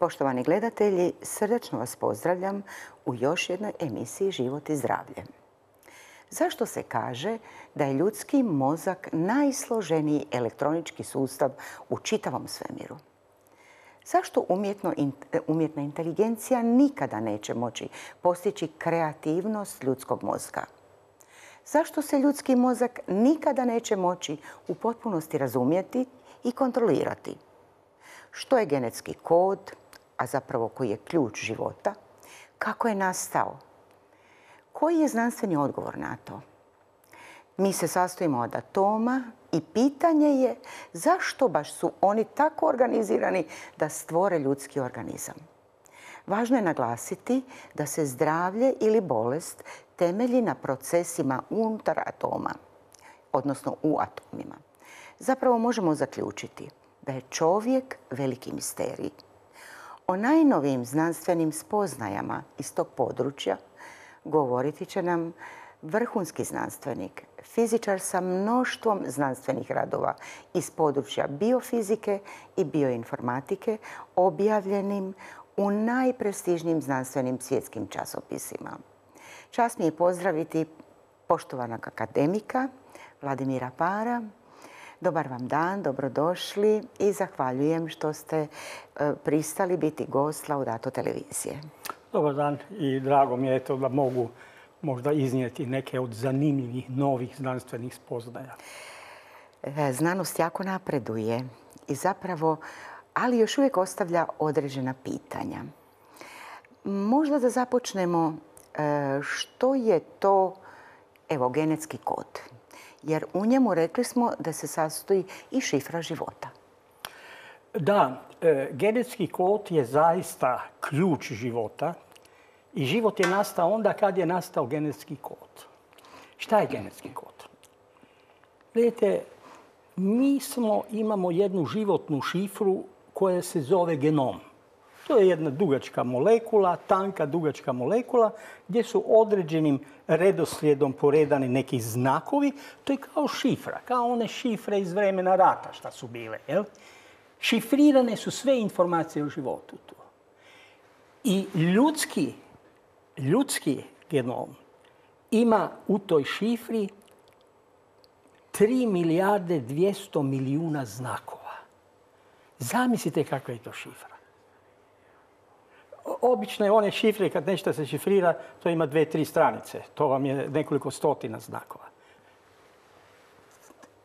Poštovani gledatelji, srdačno vas pozdravljam u još jednoj emisiji Život i zdravlje. Zašto se kaže da je ljudski mozak najsloženiji elektronički sustav u čitavom svemiru? Zašto umjetna inteligencija nikada neće moći postići kreativnost ljudskog mozga? Zašto se ljudski mozak nikada neće moći u potpunosti razumjeti i kontrolirati? Što je genetski kod, a zapravo koji je ključ života? Kako je nastao? Koji je znanstveni odgovor na to? Mi se sastojimo od atoma i pitanje je zašto baš su oni tako organizirani da stvore ljudski organizam. Važno je naglasiti da se zdravlje ili bolest temelji na procesima unutar atoma, odnosno u atomima. Zapravo možemo zaključiti da je čovjek veliki misterij. O najnovijim znanstvenim spoznajama iz tog područja govoriti će nam vrhunski znanstvenik, fizičar sa mnoštvom znanstvenih radova iz područja biofizike i bioinformatike, objavljenim u najprestižnijim znanstvenim svjetskim časopisima. Čast mi je pozdraviti poštovanog akademika Vladimira Para. Dobar vam dan, dobrodošli i zahvaljujem što ste pristali biti gost Laudato televizije. Dobar dan i drago mi je da mogu možda iznijeti neke od zanimljivih novih znanstvenih spoznaja. Znanost jako napreduje i zapravo, ali još uvijek ostavlja određena pitanja. Možda da započnemo što je to genetski kod. Jer u njemu rekli smo da se sastoji i šifra života. Da, genetski kod je zaista ključ života i život je nastao onda kad je nastao genetski kod. Šta je genetski kod? Vidite, mi imamo jednu životnu šifru koja se zove genom. To je jedna dugačka molekula, tanka dugačka molekula, gdje su određenim redoslijedom poredani neki znakovi. To je kao šifra, kao one šifre iz vremena rata šta su bile. Jel? Šifrirane su sve informacije o životu tu. I ljudski genom ima u toj šifri 3 milijarde 200 milijuna znakova. Zamislite kakva je to šifra. Obične one šifre, kad nešto se šifrira, to ima 2-3 stranice. To vam je nekoliko stotina znakova.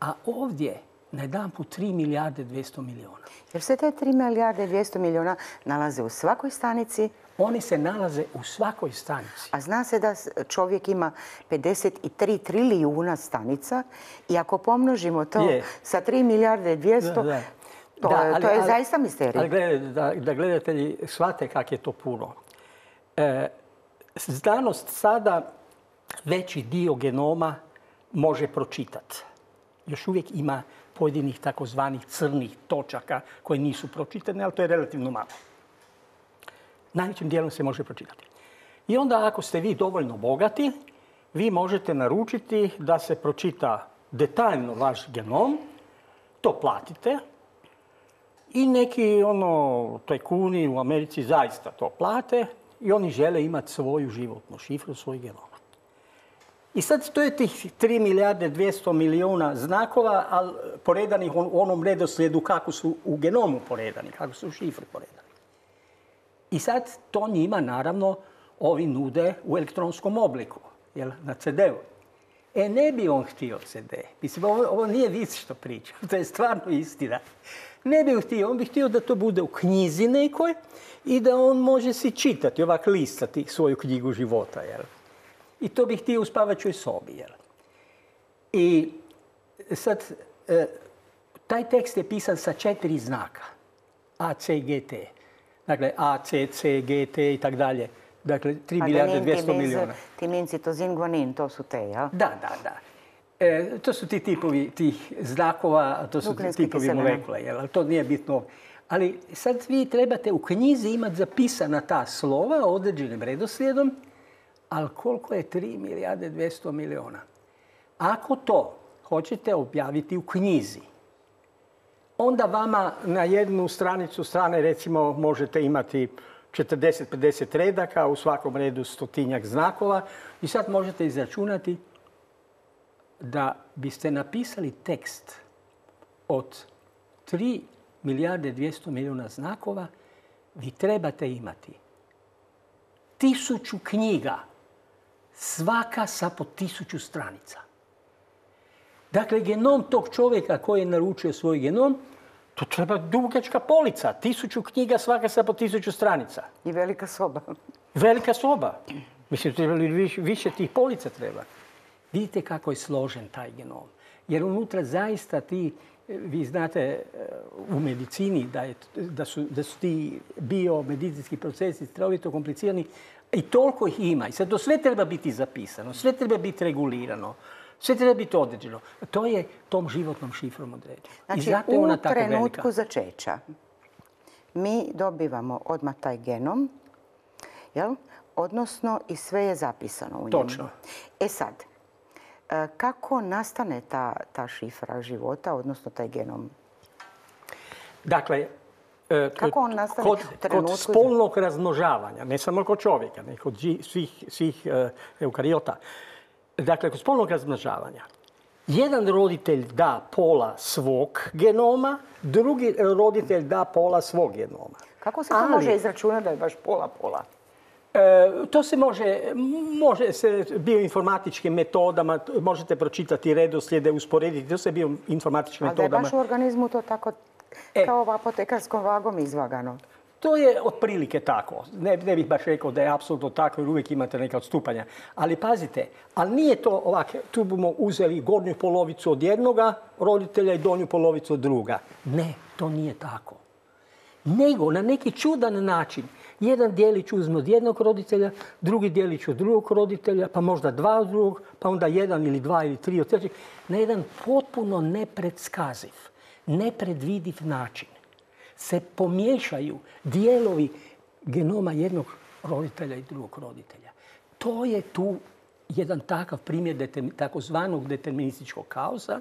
A ovdje, najedanput 3 milijarde 200 milijuna. Jer se te 3 milijarde 200 milijuna nalaze u svakoj stanici? Oni se nalaze u svakoj stanici. A zna se da čovjek ima 53 trilijuna stanica i ako pomnožimo to sa 3 milijarde 200, to je zaista misterij. Ali da gledatelji shvate kak je to puno. Znanost sada veći dio genoma može pročitati. Još uvijek ima pojedinih takozvanih crnih točaka koje nisu pročitane, ali to je relativno malo. Najvećim dijelom se može pročitati. I onda ako ste vi dovoljno bogati, vi možete naručiti da se pročita detaljno vaš genom, to platite. I neki tajkuni u Americi zaista to plate i oni žele imati svoju životnu šifru, svoj genom. I sad to je tih 3 milijarde 200 milijuna znakova, ali poredanih u onom redoslijedu kako su u genomu poredani, kako su u šifri poredani. I sad to njima naravno ovi nude u elektronskom obliku, na CD-u. Ne bi on htio CD. Mislim, ovo nije vic što pričam, to je stvarno istina. Ne bi htio, on bi htio da to bude u knjizi nekoj i da on može si čitati, ovak listati svoju knjigu života. Jel? I to bi htio u spavačoj sobi. Jel? I sad, taj tekst je pisan sa 4 znaka. A, C, G, T. Dakle, A, C, C, G, T i tak dalje. Dakle, 3 milijarde 200 milijuna. Timin, citozin, guanin, to su te, jel? Da. To su ti tipovi tih znakova, to su tipovi molekula, ali to nije bitno. Ali sad vi trebate u knjizi imati zapisana ta slova određenim redoslijedom, ali koliko je 3 milijarde 200 milijuna? Ako to hoćete objaviti u knjizi, onda vama na jednu stranicu strane recimo možete imati 40-50 redaka, u svakom redu 100-tinjak znakova i sad možete izračunati da biste napisali tekst od 3 milijarde 200 milijuna znakova, vi trebate imati 1000 knjiga, svaka sa po 1000 stranica. Dakle, genom tog čovjeka koji je naručio svoj genom, to treba dugačka polica. 1000 knjiga, svaka sa po 1000 stranica. I velika soba. Velika soba. Mislim, više tih polica treba. Vidite kako je složen taj genom. Jer unutra zaista vi znate u medicini da su ti biomedicinski procesi strahovito komplicirani i toliko ih ima. I sad to sve treba biti zapisano, sve treba biti regulirano. Sve treba biti određeno. To je tom životnom šifrom određeno. Znači, u trenutku začeća mi dobivamo odmah taj genom, jel? Odnosno i sve je zapisano u njemu. Točno. E sad, kako nastane ta šifra života, odnosno taj genom? Dakle, kako on nastane kod spolnog razmnožavanja, ne samo kod čovjeka, nego kod svih eukariota. Dakle, kod spolnog razmnožavanja, jedan roditelj da pola svog genoma, drugi roditelj da pola svog genoma. Kako se to može izračunati da je baš pola-pola? To se može se bioinformatičkim metodama, možete pročitati redoslijede, usporediti, to se bioinformatičkim metodama. Ali da je baš u organizmu to tako kao apotekarskom vagom izvagano? To je otprilike tako. Ne bih baš rekao da je apsolutno tako jer uvijek imate neka odstupanja. Ali pazite, ali nije to ovako, tu bomo uzeli gornju polovicu od jednoga roditelja i donju polovicu od druga. Ne, to nije tako. Nego na neki čudan način jedan dijelić uzme od jednog roditelja, drugi dijelić od drugog roditelja, pa možda dva od drugog, pa onda jedan ili dva ili tri od trećeg. Na jedan potpuno nepredskaziv, nepredvidiv način se pomiješaju dijelovi genoma jednog roditelja i drugog roditelja. To je tu jedan takav primjer takozvanog determinističkog kaosa,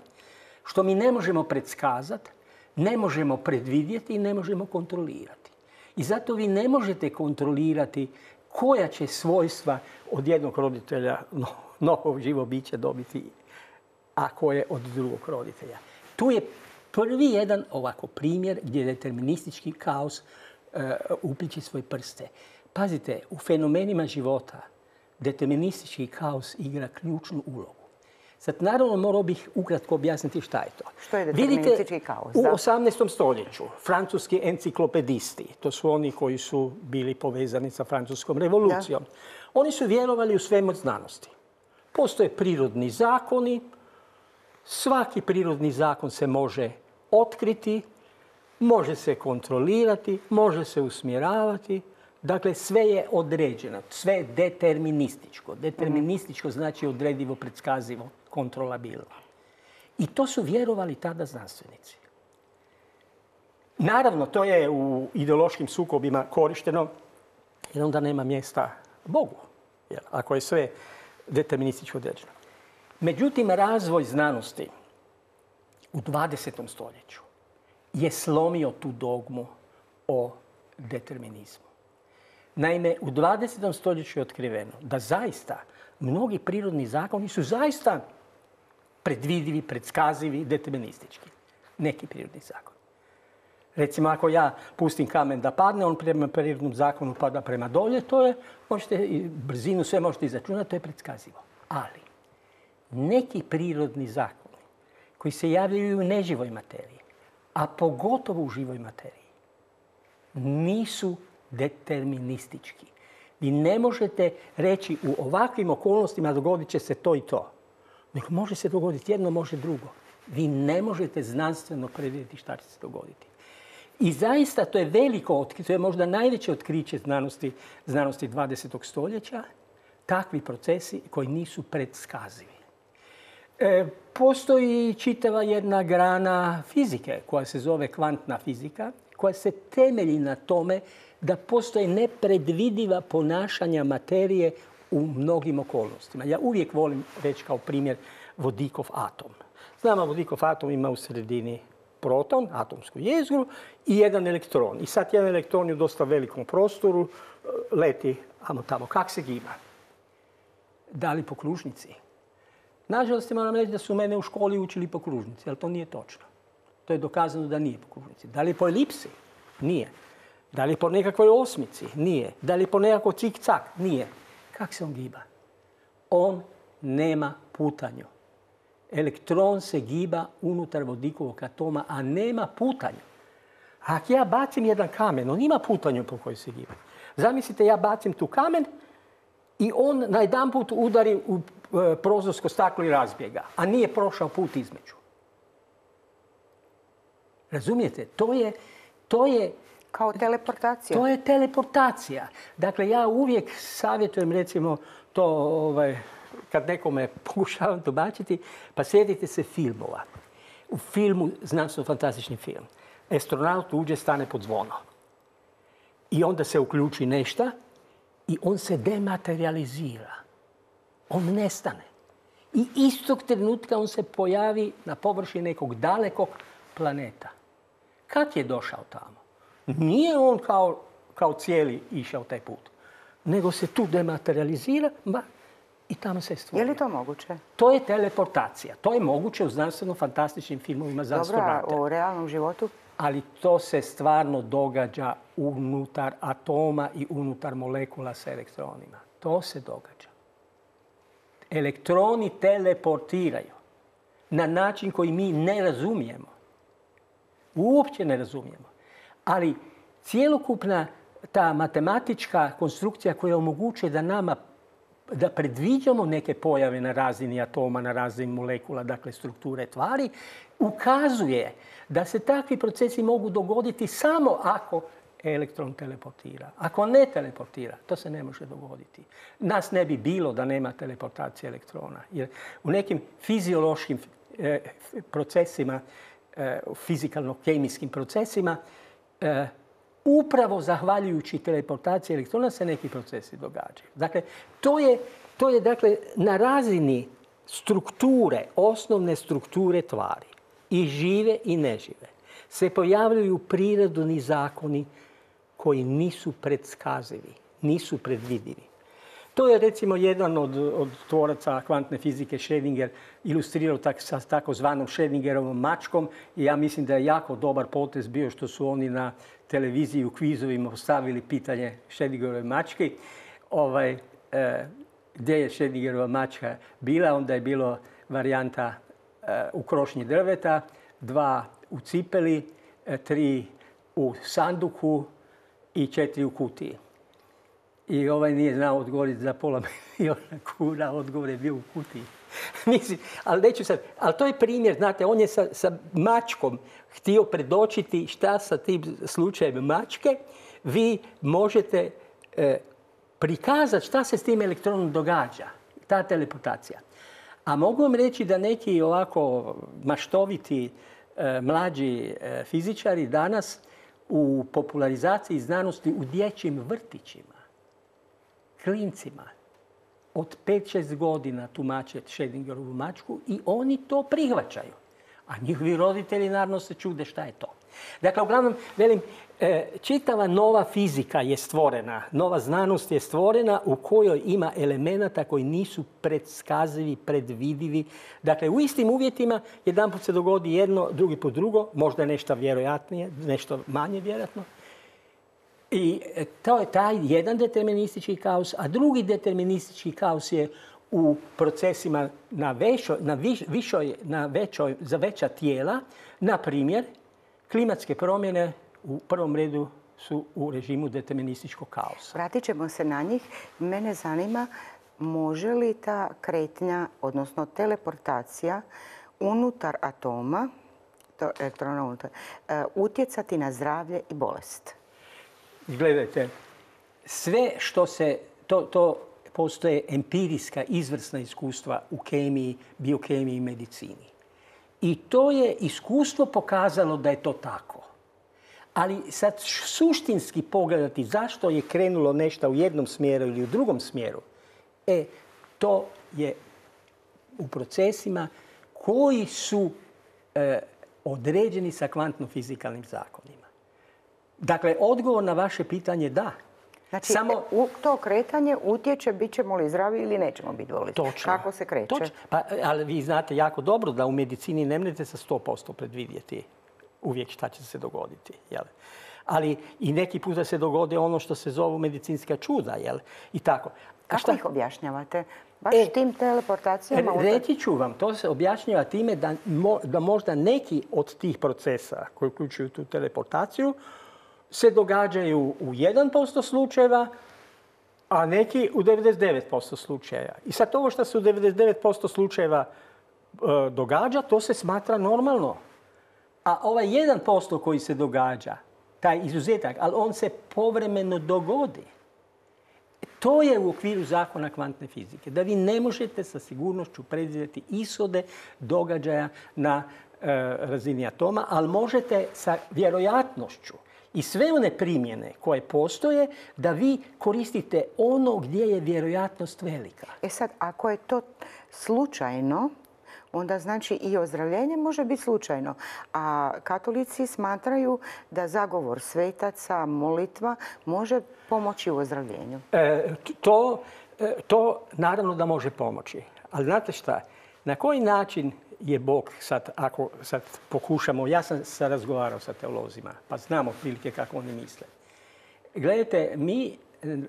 što mi ne možemo predskazati, ne možemo predvidjeti i ne možemo kontrolirati. I zato vi ne možete kontrolirati koja će svojstva od jednog roditelja novog živo biće dobiti, a koje od drugog roditelja. Tu je prvi jedan ovako primjer gdje deterministički kaos upliče svoje prste. Pazite, u fenomenima života deterministički kaos igra ključnu ulogu. Sad, naravno, morao bih ukratko objasniti šta je to. Što je deterministički kaos? U 18. stoljeću francuski enciklopedisti, to su oni koji su bili povezani sa francuskom revolucijom, oni su vjerovali u svemir znanosti. Postoje prirodni zakoni, svaki prirodni zakon se može otkriti, može se kontrolirati, može se usmjeravati. Dakle, sve je određeno, sve je determinističko. Determinističko znači odredivo, predskazivo, kontrolabilno. I to su vjerovali tada znanstvenici. Naravno, to je u ideološkim sukobima korišteno jer onda nema mjesta Bogu, ako je sve determinističko određeno. Međutim, razvoj znanosti u 20. stoljeću je slomio tu dogmu o determinizmu. Naime, u 20. stoljeću je otkriveno da zaista mnogi prirodni zakoni su zaista predvidivi, predskazivi, deterministički. Neki prirodni zakoni. Recimo, ako ja pustim kamen da padne, on prema prirodnom zakonu pada prema dolje, to je, brzinu sve možete izračunati, to je predskazivo. Ali, neki prirodni zakoni koji se javljaju u neživoj materiji, a pogotovo u živoj materiji, nisu deterministički. Vi ne možete reći u ovakvim okolnostima dogodit će se to i to. Nego može se dogoditi jedno, može drugo. Vi ne možete znanstveno predvidjeti šta će se dogoditi. I zaista to je veliko otkriće, to je možda najveće otkriće znanosti 20. stoljeća, takvi procesi koji nisu predskazivi. Postoji čitava jedna grana fizike koja se zove kvantna fizika, koja se temelji na tome da postoje nepredvidiva ponašanja materije u mnogim okolnostima. Ja uvijek volim reći kao primjer vodikov atom. Znamo, vodikov atom ima u sredini proton, atomsku jezgru, i jedan elektron. I sad jedan elektron je u dosta velikom prostoru, leti tamo. Kak se giba? Da li po kružnici? Nažalost, moram reći da su mene u školi učili po kružnici, ali to nije točno. To je dokazano da nije po kružnici. Da li po elipsi? Nije. Da li po nekakvoj osmici? Nije. Da li po nekakvoj cik-cak? Nije. Kak se on giba? On nema putanju. Elektron se giba unutar vodikovog atoma, a nema putanju. Ako ja bacim jedan kamen, on ima putanju po kojoj se giba. Zamislite, ja bacim tu kamen i on najedanput udari u prozorsko staklo i razbije ga, a nije prošao put između. Razumijete? To je kao teleportacija. To je teleportacija. Dakle, ja uvijek savjetujem, recimo, to kad nekome pokušavam tumačiti, pa sjetite se filmova. U filmu, znanstveno-fantastični film, astronaut uđe, stane pod zvono. I onda se uključi nešto i on se dematerializira. On nestane. I istog trenutka on se pojavi na površini nekog dalekog planeta. Kad je došao tamo? Nije on kao cijeli išao taj put, nego se tu dematerializira i tamo se stvori. Je li to moguće? To je teleportacija. To je moguće u znanstveno-fantastičnim filmovima za astronaute. Dobro, a u realnom životu? Ali to se stvarno događa unutar atoma i unutar molekula sa elektronima. To se događa. Elektroni teleportiraju na način koji mi ne razumijemo. Uopće ne razumijemo. Ali cjelokupna ta matematička konstrukcija koja omogućuje da predviđamo neke pojave na razini atoma, na razini molekula, dakle strukture tvari, ukazuje da se takvi procesi mogu dogoditi samo ako elektron teleportira. Ako ne teleportira, to se ne može dogoditi. Nas ne bi bilo da nema teleportacije elektrona. Jer u nekim fiziološkim procesima, fizikalno-kemijskim procesima, upravo zahvaljujući teleportaciji elektrona se neki procesi događaju. Dakle, to je dakle, na razini strukture, osnovne strukture tvari, i žive i nežive, se pojavljaju prirodni zakoni koji nisu predskazivi, nisu predvidivi. To je recimo jedan od tvoraca kvantne fizike, Schrödinger, ilustrirao sa takozvanom Schrödingerovom mačkom i ja mislim da je jako dobar potez bio što su oni na televiziji u kvizovima postavili pitanje Schrödingerove mačke. Gdje je Schrödingerova mačka bila? Onda je bilo varijanta u krošnji drveta, 2 u cipeli, 3 u sanduku i 4 u kutiji. I nije znao odgovoriti za pola milijuna kuna, odgovor je bio u kutiji. Mislim, ali neću sad. Ali to je primjer, znate, on je sa mačkom htio predočiti šta sa tim slučajem mačke. Vi možete prikazati šta se s tim elektronom događa, ta teleportacija. A mogu vam reći da neki ovako maštoviti mlađi fizičari danas u popularizaciji znanosti u dječjim vrtićima, klincima od 5-6 godina tumače Schrödingerovu mačku i oni to prihvaćaju. A njihovi roditelji naravno se čude šta je to. Dakle, uglavnom, velim, čitava nova fizika je stvorena, nova znanost je stvorena u kojoj ima elemenata koji nisu predskazivi, predvidivi. Dakle, u istim uvjetima jedanput se dogodi jedno, drugi put drugo, možda je nešto vjerojatnije, nešto manje vjerojatno. I to je taj jedan deterministički kaos, a drugi deterministički kaos je u procesima za veća tijela. Na primjer, klimatske promjene u prvom redu su u režimu determinističkog kaosa. Vratit ćemo se na njih. Mene zanima, može li ta kretnja, odnosno teleportacija unutar atoma, elektrona unutar, utjecati na zdravlje i bolest? Gledajte, sve što se, to postoje empirijska, izvrsna iskustva u kemiji, biokemiji i medicini. I to je iskustvo pokazalo da je to tako. Ali sad suštinski pogledati zašto je krenulo nešto u jednom smjeru ili u drugom smjeru, to je u procesima koji su određeni sa kvantno-fizikalnim zakonima. Dakle, odgovor na vaše pitanje je da. Znači, to kretanje utječe bit ćemo li zdravi ili nećemo biti bolesni. Točno. Kako se kreće? Točno. Pa, ali vi znate jako dobro da u medicini ne možete sa 100% predvidjeti uvijek šta će se dogoditi. Jel? Ali i neki puta se dogode ono što se zovu medicinska čuda. Jel? I tako. Kako ih objašnjavate? Baš tim teleportacijama? Reći ću vam, to se objašnjava time da možda neki od tih procesa koji uključuju tu teleportaciju se događaju u 1% slučajeva, a neki u 99% slučajeva. I sad ovo što se u 99% slučajeva događa, to se smatra normalno. A ovaj 1% koji se događa, taj izuzetak, ali on se povremeno dogodi. To je u okviru zakona kvantne fizike. Da vi ne možete sa sigurnošću predvidjeti ishode događaja na razini atoma, ali možete sa vjerojatnošću i sve one primjene koje postoje da vi koristite ono gdje je vjerojatnost velika. Sad, ako je to slučajno, onda znači i ozdravljenje može biti slučajno. A katolici smatraju da zagovor svetaca, molitva može pomoći u ozdravljenju. To naravno da može pomoći. Ali znate šta? Na koji način je Bog, ako sad pokušamo, ja sam se razgovarao sa teolozima, pa znam otprilike kako oni misle. Gledajte, mi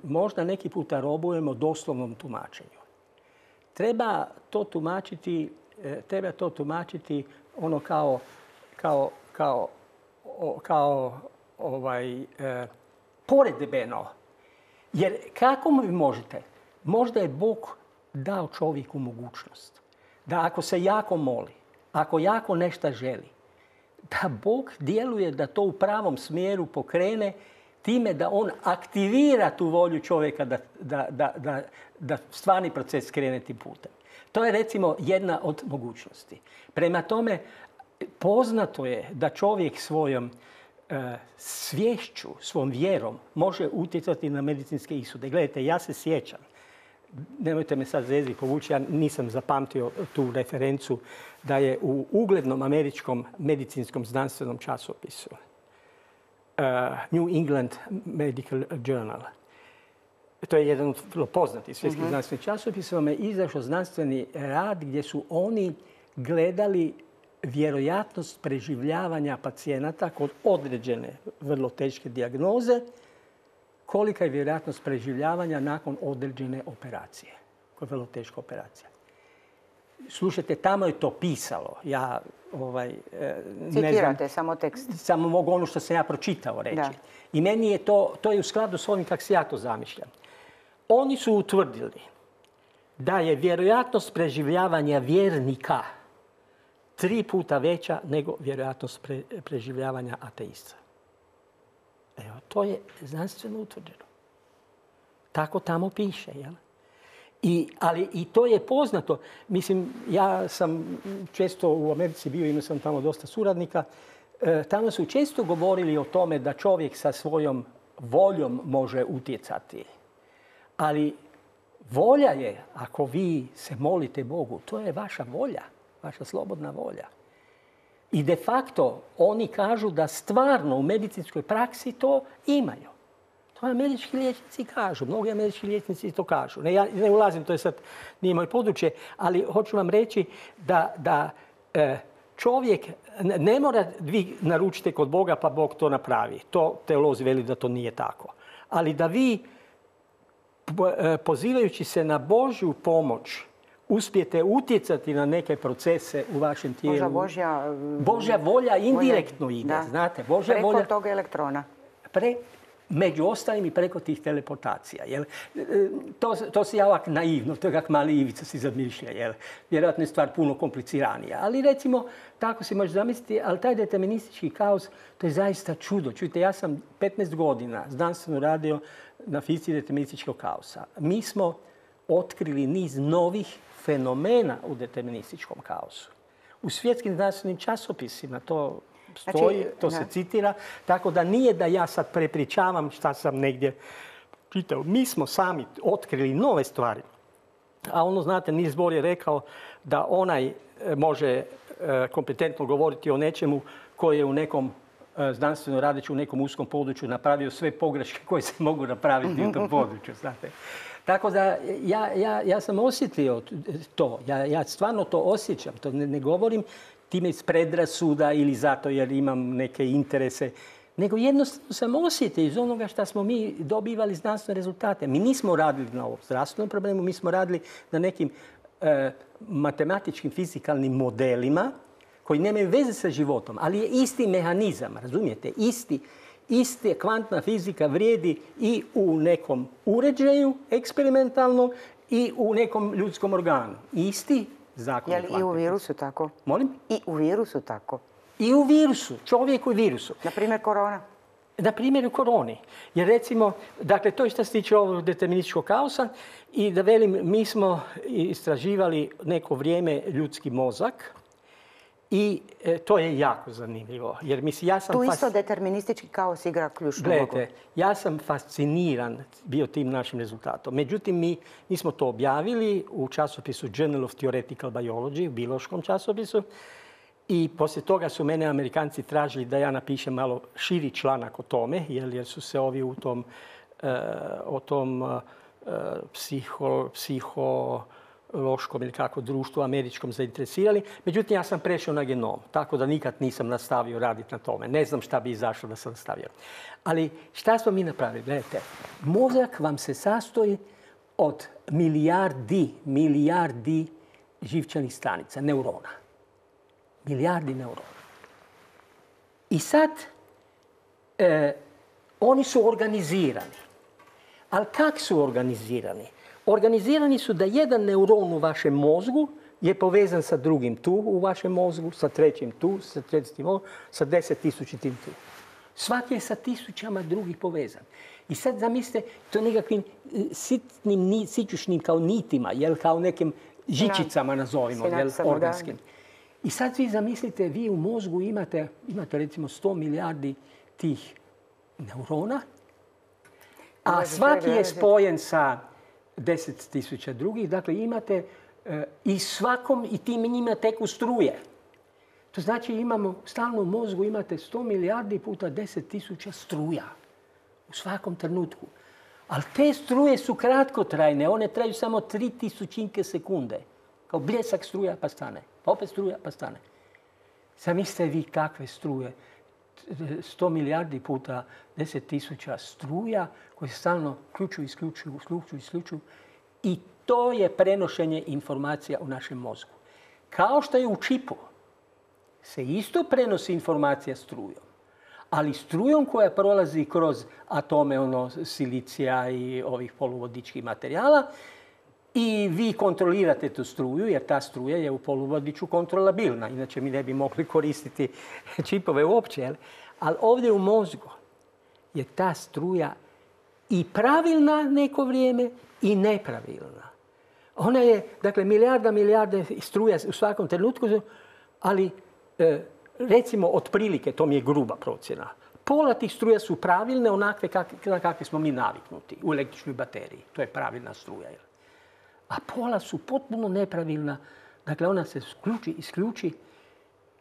možda neki puta robujemo doslovnom tumačenju. Treba to tumačiti ono poredbeno. Jer kako vi možete? Možda je Bog dao čovjeku mogućnost da ako se jako moli, ako jako nešto želi, da Bog djeluje da to u pravom smjeru pokrene time da on aktivira tu volju čovjeka da stvarni proces krene tim putem. To je recimo jedna od mogućnosti. Prema tome, poznato je da čovjek svojom sviješću, svom vjerom može utjecati na medicinske ishode. Gledajte, ja se sjećam, nemojte me sad za jezik povući, ja nisam zapamtio tu referencu, da je u uglednom američkom medicinskom znanstvenom časopisu New England Medical Journal, to je jedan od vrlo poznatih svjetskih znanstvenih časopisa, vam je izašao znanstveni rad gdje su oni gledali vjerojatnost preživljavanja pacijenata kod određene vrlo teške dijagnoze, kolika je vjerojatnost preživljavanja nakon određene operacije, koja je vrlo teška operacija. Slušajte, tamo je to pisalo. Ja citirate samo tekst. Samo mogu ono što sam ja pročitao reći. Da. I meni je to je u skladu s ovim kako se ja to zamišljam. Oni su utvrdili da je vjerojatnost preživljavanja vjernika 3 puta veća nego vjerojatnost preživljavanja ateista. Evo, to je znanstveno utvrđeno. Tako tamo piše, jel? Ali i to je poznato. Mislim, ja sam često u Americi bio, imao sam tamo dosta suradnika. Tamo su često govorili o tome da čovjek sa svojom voljom može utjecati. Ali volja je, ako vi se molite Bogu, to je vaša volja, vaša slobodna volja. I de facto oni kažu da stvarno u medicinskoj praksi to imaju. To američki liječnici kažu. Mnogi američki liječnici to kažu. Ja ne ulazim, to je sad nije moje područje, ali hoću vam reći da čovjek ne mora vi naručite kod Boga pa Bog to napravi. To teolozi veli da to nije tako. Ali da vi pozivajući se na Božju pomoć uspijete utjecati na neke procese u vašem tijelu. Božja volja indirektno ide. Da. Znate, Božja preko volja, toga elektrona. Među ostalim i preko tih teleportacija. Jel? To se ja ovak naivno, to je kak mali Ivica si zamišlja. Jel? Vjerojatno je stvar puno kompliciranija. Ali recimo, tako se može zamisliti, ali taj deterministički kaos, to je zaista čudo. Čujte, ja sam 15 godina znanstveno radio na fizici determinističkog kaosa. Mi smo otkrili niz novih fenomena u determinističkom kaosu. U svjetskim znanstvenim časopisima to stoji, to se citira. Tako da nije da ja sad prepričavam šta sam negdje čitao. Mi smo sami otkrili nove stvari. A ono, znate, Niels Bohr je rekao da onaj može kompetentno govoriti o nečemu koji je u nekom znanstveno radeći u nekom uskom području napravio sve pogreške koje se mogu napraviti u tom području. Znate. Tako da ja sam osjetio to. Ja stvarno to osjećam. To ne govorim time iz predrasuda ili zato jer imam neke interese. Nego jednostavno sam osjetio iz onoga što smo mi dobivali znanstvene rezultate. Mi nismo radili na ovom zdravstvenom problemu, mi smo radili na nekim matematičkim, fizikalnim modelima koji nemaju veze sa životom, ali je isti mehanizam, razumijete? Ista kvantna fizika vrijedi i u nekom uređaju eksperimentalnom i u nekom ljudskom organu. Isti zakon. Je li i u virusu tako? Molim? I u virusu tako? I u virusu, čovjeku i virusu. Na primjer korona? Na primjer u koroni. Jer recimo, dakle, to je što se tiče ovog determinističkog kaosa i da velim, mi smo istraživali neko vrijeme ljudski mozak i to je jako zanimljivo. Jer ja sam tu isto deterministički kaos igra ključnu ulogu. Gledajte, ja sam fasciniran bio tim našim rezultatom. Međutim, mi smo to objavili u časopisu Journal of Theoretical Biology, u biološkom časopisu. I poslije toga su mene Amerikanci tražili da ja napišem malo širi članak o tome, jer su se ovi o tom psihološkom ili kako društvu američkom zainteresirali. Međutim, ja sam prešao na genom, tako da nikad nisam nastavio raditi na tome. Ne znam šta bi izašlo da sam nastavio. Ali šta smo mi napravili? Gledajte, mozak vam se sastoji od milijardi živčanih stanica, neurona. Milijardi neurona. I sad oni su organizirani. Ali kak su organizirani? Organizirani su da jedan neuron u vašem mozgu je povezan sa drugim tu u vašem mozgu, sa trećim tu, sa trećim tu, sa 10.000 tu. Svaki je sa tisućama drugih povezan. I sad zamislite to nekakvim sitnim, sićušnim kao nitima, kao nekim žičicama nazovimo, organskim. I sad vi zamislite, vi u mozgu imate recimo 100 milijardi tih neurona, a svaki je spojen sa 10.000 drugih. Dakle, imate i svakom i tim njima teku struje. To znači imamo, stalno u mozgu imate 100 milijardi puta 10.000 struja u svakom trenutku. Ali te struje su kratkotrajne, one traju samo 3.000 sekunde. Kao bljesak struja pa stane. Pa opet struja pa stane. Zamislite vi kakve struje. 100 milijardi puta 10.000 struja koje se stalno isključuju. I to je prenošenje informacija u našem mozgu. Kao što je u čipu se isto prenosi informacija strujom. Ali strujom koja prolazi kroz atome silicija i ovih poluvodičkih materijala. I vi kontrolirate tu struju, jer ta struja je u poluvodiču kontrolabilna. Inače mi ne bi mogli koristiti čipove uopće. Ali ovdje u mozgu je ta struja i pravilna neko vrijeme i nepravilna. Ona je, dakle, milijarde struja u svakom trenutku, ali recimo otprilike, to mi je gruba procjena, pola tih struja su pravilne onakve na kakve smo mi naviknuti u električnoj bateriji. To je pravilna struja. A pola su potpuno nepravilna. Dakle, ona se isključi.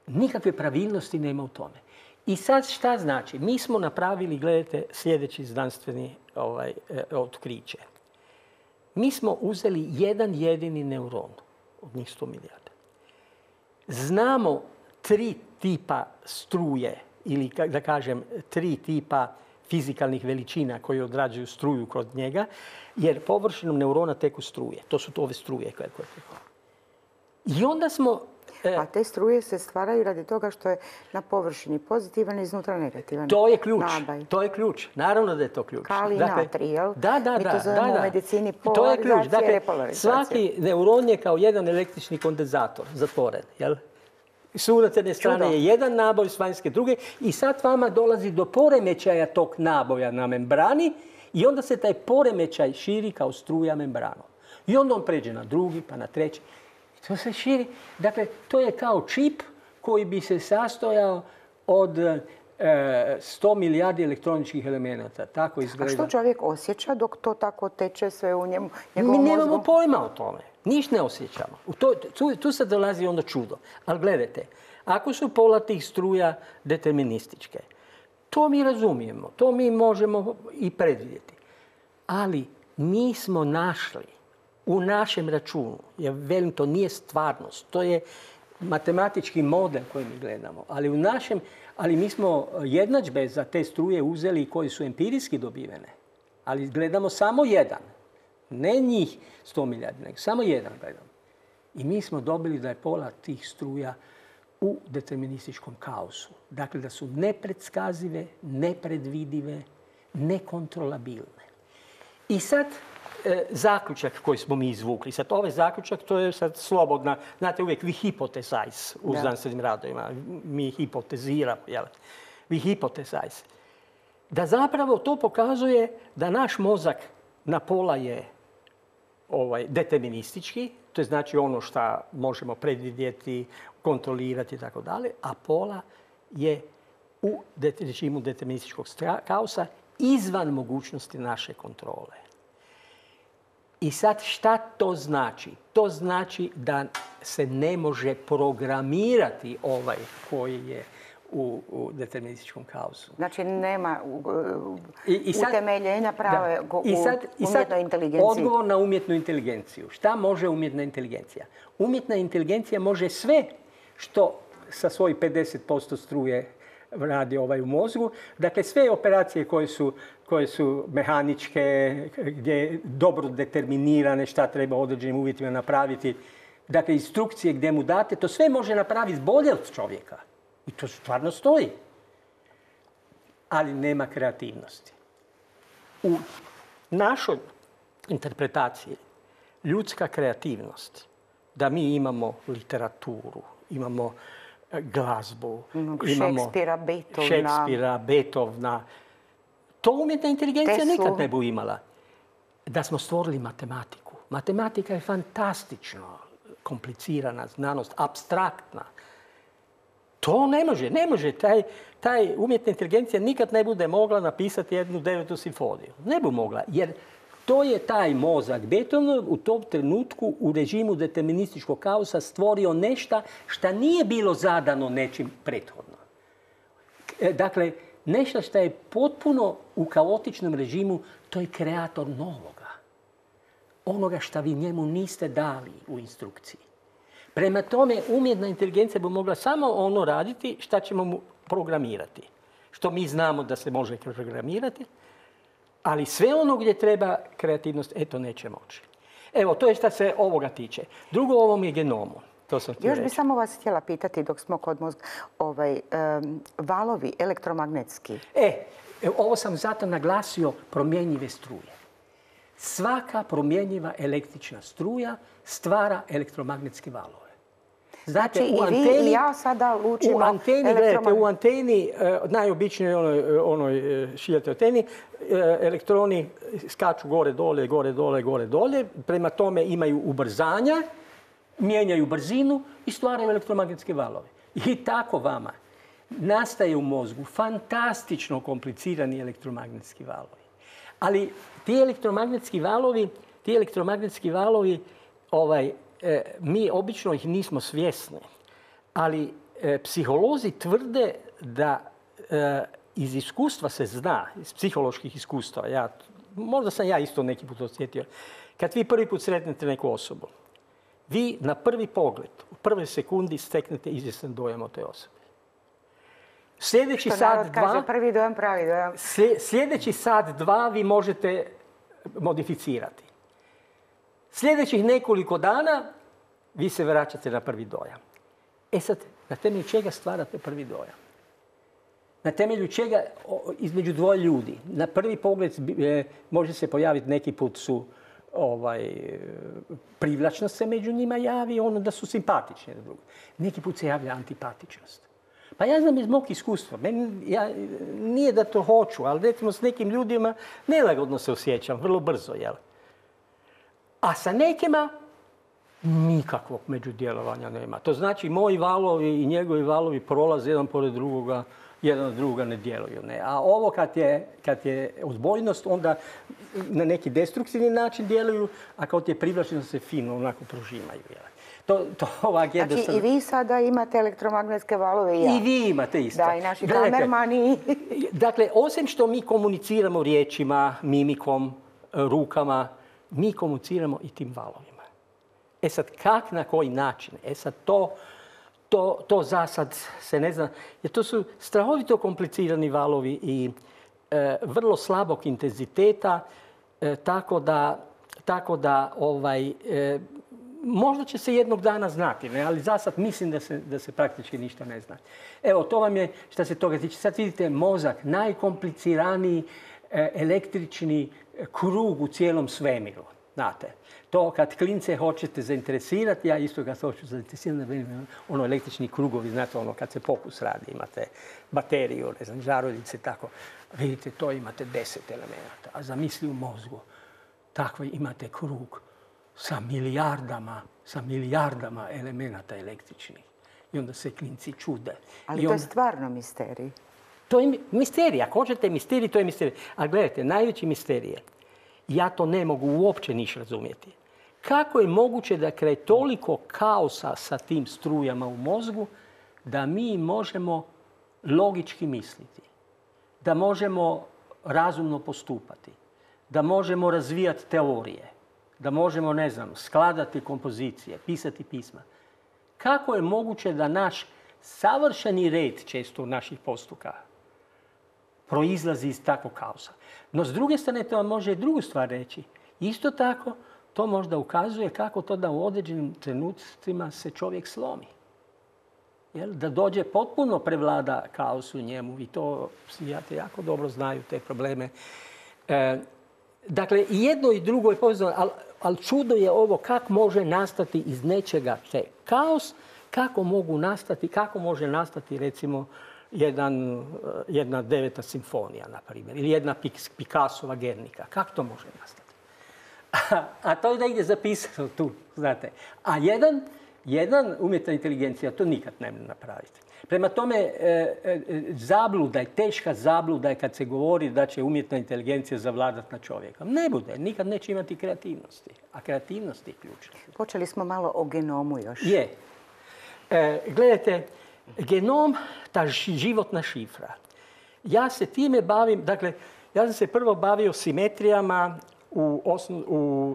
Nikakve pravilnosti nema u tome. I sad šta znači? Mi smo napravili, gledajte, sljedeći znanstveni otkriće. Mi smo uzeli jedan jedini neuron od njih 100 milijarda. Znamo 3 tipa struje ili, da kažem, 3 tipa fizikalnih veličina koje odrađuju struju kroz njega, jer površinom neurona teku struje. To su ove struje koje teku. I onda smo... A te struje se stvaraju radi toga što je na površini pozitivan i iznutra negativan. To je ključ. To je ključ. Naravno da je to ključ. Kalij i natrij, jel? Da. Mi to zovemo u medicini polarizacija i repolarizacija. To je ključ. Dakle, svaki neuron je kao jedan električni kondenzator, zatvoren, jel? S unutarnje strane je jedan naboj, s vanjske druge. I sad vama dolazi do poremećaja tog naboja na membrani i onda se taj poremećaj širi kao struja membranom. I onda on pređe na drugi, pa na treći. I to se širi. Dakle, to je kao čip koji bi se sastojao od 100 milijardi elektroničkih elemenata. Tako izgleda. A što čovjek osjeća dok to tako teče sve u njemu? Mi nemamo pojma o tome. Ništa ne osjećamo. Tu sad dolazi onda čudo. Ali gledajte, ako su pola tih struja determinističke, to mi razumijemo. To mi možemo i predvidjeti. Ali mi smo našli u našem računu, ja velim, to nije stvarnost, to je matematički model koji mi gledamo, ali mi smo jednadžbe za te struje uzeli koji su empirijski dobivene, ali gledamo samo jedan, ne njih 100 milijardi, nego samo jedan gledamo. I mi smo dobili da je pola tih struja u determinističkom kaosu. Dakle, da su nepredskazive, nepredvidive, nekontrolabilne. I sad zaključak koji smo mi izvukli. Sad ovaj zaključak, to je sad slobodna, znate uvijek vi hypothesize u znanstvenim radovima. Mi hipoteziramo, jel? Vi hypothesize. Da zapravo to pokazuje da naš mozak na pola je deterministički, to je znači ono što možemo predvidjeti, kontrolirati i tako dalje, a pola je u režimu determinističkog kaosa izvan mogućnosti naše kontrole. I sad šta to znači? To znači da se ne može programirati ovaj koji je u determinističkom kaosu. Znači nema utemeljenja prave u umjetnoj inteligenciji. Odgovor na umjetnu inteligenciju. Šta može umjetna inteligencija? Umjetna inteligencija može sve što sa svojih 50% struje radi u mozgu. Dakle, sve operacije koje su mehaničke, gdje je dobro determinirane šta treba u određenim uvjetima napraviti. Dakle, instrukcije gdje mu date, to sve može napraviti bolje od čovjeka. I to stvarno stoji. Ali nema kreativnosti. U našoj interpretaciji ljudska kreativnost, da mi imamo literaturu, imamo glazbu, imamo Šekspira, Beethovna. To umjetna inteligencija nikad ne bi imala. Da smo stvorili matematiku. Matematika je fantastično komplicirana znanost, apstraktna. To ne može. Taj umjetna inteligencija nikad ne bude mogla napisati jednu 9. simfoniju. Ne bi mogla, jer to je taj mozak Beethovenov u tom trenutku u režimu determinističkog kaosa stvorio nešto što nije bilo zadano nečim prethodno. Dakle, nešto što je potpuno u kaotičnom režimu, to je kreator novoga. Onoga što vi njemu niste dali u instrukciji. Prema tome, umjetna inteligencija bi mogla samo ono raditi što ćemo mu programirati. Što mi znamo da se može programirati, ali sve ono gdje treba kreativnost, eto, neće moći. Evo, to je što se ovoga tiče. Drugo, o ovom je genomu. Još bi samo vas htjela pitati dok smo kod mozga, valovi elektromagnetski. Ovo sam zato naglasio promjenjive struje. Svaka promjenjiva električna struja stvara elektromagnetske valove. Znači i vi i ja sada lučimo u anteni, najobičnijoj onoj šiljatoj anteni, elektroni skaču gore, dole, gore, dole, gore, dole. Prema tome imaju ubrzanja, mijenjaju brzinu i stvaraju elektromagnetske valove. I tako vama nastaje u mozgu fantastično komplicirani elektromagnetski valovi. Ali ti elektromagnetski valovi, mi obično ih nismo svjesni, ali psiholozi tvrde da iz iskustva se zna, iz psiholoških iskustava, možda sam ja isto neki put osjetio, kad vi prvi put sretnete neku osobu, vi na prvi pogled, u prvoj sekundi steknete izvjestan dojam o toj osobi. Sljedeći sat, dva, prvi dojam, pravi dojam. Sljedeći sat, dva vi možete modificirati. Sljedećih nekoliko dana vi se vraćate na prvi dojam. Sad, na temelju čega stvarate prvi dojam? Na temelju čega između dvoje ljudi? Na prvi pogled može se pojaviti, neki put su privlačnost se među njima javi, ono da su simpatični. Neki put se javlja antipatičnost. Pa ja znam iz mog iskustva, nije da to hoću, ali recimo s nekim ljudima nelagodno se osjećam, vrlo brzo, jel? A sa nekima nikakvog međudjelovanja nema. To znači moji valovi i njegovi valovi prolaze jedan pored drugoga jedan od druga ne djeluju. Ne? A ovo kad je odbojnost, onda na neki destruktivni način djeluju, a kad je privlačnost se fino onako prožimaju. Znači i vi sada imate elektromagnetske valove i ja. I vi imate isto. Da, i naši kamermani. Dakle, osim što mi komuniciramo riječima, mimikom, rukama, mi komuniciramo i tim valovima. E sad, kak, na koji način? E sad, to za sad se ne zna. Jer to su strahovito komplicirani valovi i vrlo slabog intenziteta, tako da možda će se jednog dana znati, ne? Ali za sad mislim da se praktički ništa ne zna. Evo, to vam je što se toga tiče. Sad vidite mozak, najkompliciraniji električni krug u cijelom svemiru. Znate, to kad klince hoćete zainteresirati, ja isto ga hoću zainteresirati, ono električni krugovi, znate, ono kad se pokus radi, imate bateriju, ne znam, žaruljice, tako. Vidite, to imate 10 elemenata. A zamisli u mozgu, takvo imate krug sa milijardama elemenata električnih. I onda se klinci čude. Ali to je stvarno misterij. To je misterij. Ako hoćete misterij, to je misterij. A gledajte, najveći misterij je, ja to ne mogu uopće niš razumjeti. Kako je moguće da kraj toliko kaosa sa tim strujama u mozgu, da mi možemo logički misliti, da možemo razumno postupati, da možemo razvijati teorije, da možemo, ne znam, skladati kompozicije, pisati pisma. Kako je moguće da naš savršeni red često naših postupaka proizlazi iz takvog kaosa? No, s druge strane, to vam može drugu stvar reći. Isto tako, to možda ukazuje kako to da u određenim trenucima se čovjek slomi. Da dođe potpuno prevlada kaos u njemu. Vi to psihijatri jako dobro znaju, te probleme. Dakle, i jedno i drugo je povezano, ali čudo je ovo kako može nastati iz nečega te kaos, kako može nastati recimo jedna 9. simfonija, na primjer, ili jedna Picassova Gernika. Kako to može nastati? A to je da ide zapisano tu, znate. A jedan umjetna inteligencija to nikad ne može napraviti. Prema tome, zabluda je, teška zabluda je kad se govori da će umjetna inteligencija zavladati nad čovjekom. Ne bude, nikad neće imati kreativnosti. A kreativnost je ključna. Počeli smo malo o genomu još. Je. Gledajte, genom, ta životna šifra. Ja se time bavim, dakle, ja sam se prvo bavio simetrijama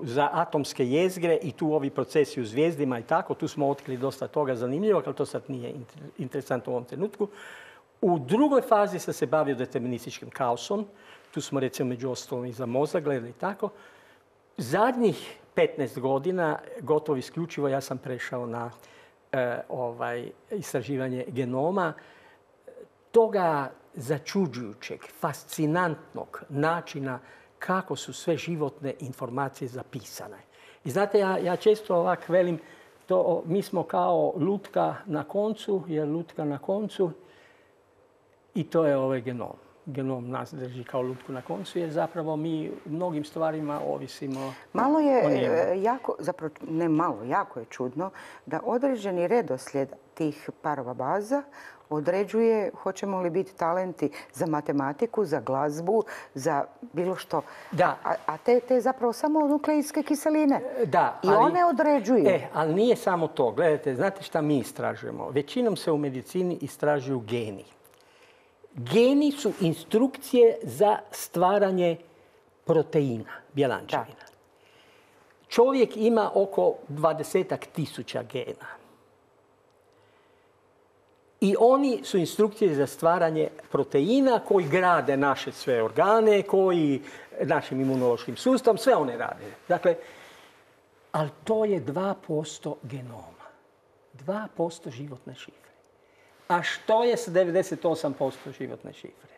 za atomske jezgre i tu ovi procesi u zvijezdima i tako. Tu smo otkrili dosta toga zanimljivog, ali to sad nije interesantno u ovom trenutku. U drugoj fazi sam se bavio determinističkim kaosom. Tu smo recimo među ostalom i za mozak gledali tako. Zadnjih 15 godina, gotovo isključivo, ja sam prešao na istraživanje genoma. Toga začuđujućeg, fascinantnog načina kako su sve životne informacije zapisane. I znate, ja često ovak velim, mi smo kao lutka na koncu, i to je ovaj genom. Genom nas drži kao lutku na koncu, jer zapravo mi u mnogim stvarima ovisimo. Malo je jako, zapravo ne malo, jako je čudno da određeni redoslijed tih parova baza određuje hoćemo li biti talenti za matematiku, za glazbu, za bilo što. Da. A te zapravo samo nukleidske kiseline. Da. I one određuju. Ali nije samo to. Gledajte, znate šta mi istražujemo? Većinom se u medicini istražuju geni. Geni su instrukcije za stvaranje proteina, bjelančevina. Čovjek ima oko 20.000 gena. I oni su instrukcije za stvaranje proteina koji grade naše sve organe, koji našim imunološkim sustavom, sve one rade. Dakle, ali to je 2% genoma. 2% životne šifre. A što je s 98% životne šifre?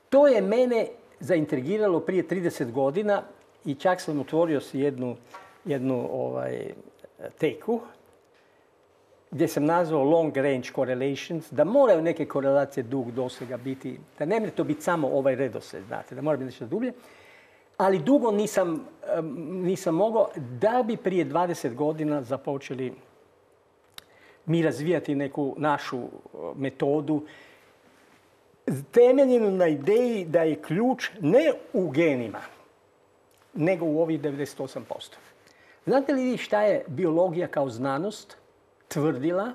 To je mene zaintrigiralo prije 30 godina i čak sam otvorio si jednu teku gdje sam nazvao long range correlations, da moraju neke korelacije dug dosega biti, da ne može to biti samo ovaj redoslijed, znate, da mora biti nešto dublje. Ali dugo nisam mogao da bi prije 20 godina započeli mi razvijati neku našu metodu temeljeno na ideji da je ključ ne u genima, nego u ovih 98%. Znate li vi šta je biologija kao znanost tvrdila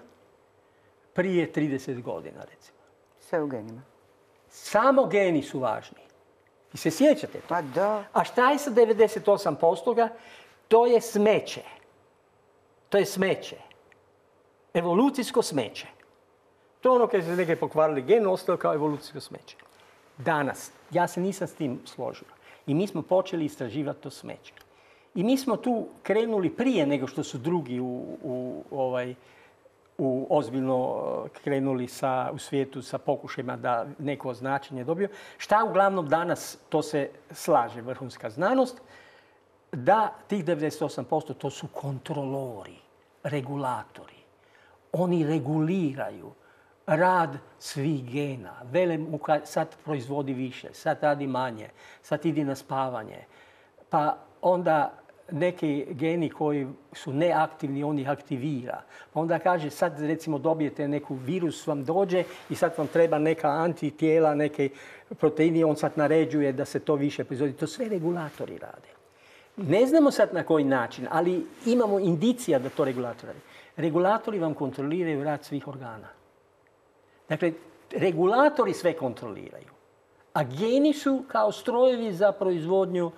prije 30 godina, recimo? Sve u genima. Samo geni su važni. I se sjećate to? Pa da. A šta je sa 98%? To je smeće. To je smeće. Evolucijsko smeće. To je ono kad se neke pokvarili gen, ostalo kao evolucijsko smeće. Danas, ja se nisam s tim složio. I mi smo počeli istraživati to smeće. I mi smo tu krenuli prije nego što su drugi ozbiljno krenuli u svijetu sa pokušajima da neko označenje dobiju. Šta uglavnom danas, to se slaže vrhunska znanost, da tih 98% to su kontrolori, regulatori. Oni reguliraju rad svih gena. Vele mu sad proizvodi više, sad radi manje, sad ide na spavanje. Pa onda neki geni koji su neaktivni, on ih aktivira. Pa onda kaže, sad recimo dobijete neku virus, vam dođe i sad vam treba neka antitijela, neke proteini, on sad naređuje da se to više proizvodi. To sve regulatori rade. Ne znamo sad na koji način, ali imamo indicija da to regulatori rade. Regulatori vam kontroliraju rad svih organa. Dakle, regulatori sve kontroliraju. A geni su kao strojevi za proizvodnju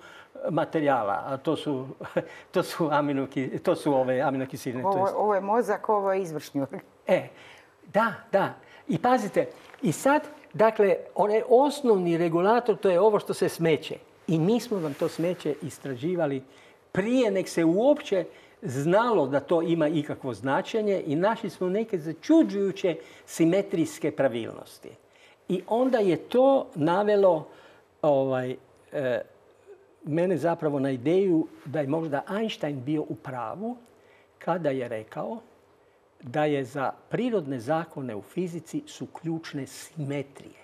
materijala. A to su aminokiseline. Ovo je mozak, ovo je izvršni organ. Da. I pazite, i sad, dakle, onaj osnovni regulator, to je ovo što se smeće. I mi smo vam to smeće istraživali prije nek se uopće znalo da to ima ikakvo značenje i našli smo neke začuđujuće simetrijske pravilnosti. I onda je to navelo mene zapravo na ideju da je možda Einstein bio u pravu kada je rekao da je za prirodne zakone u fizici su ključne simetrije.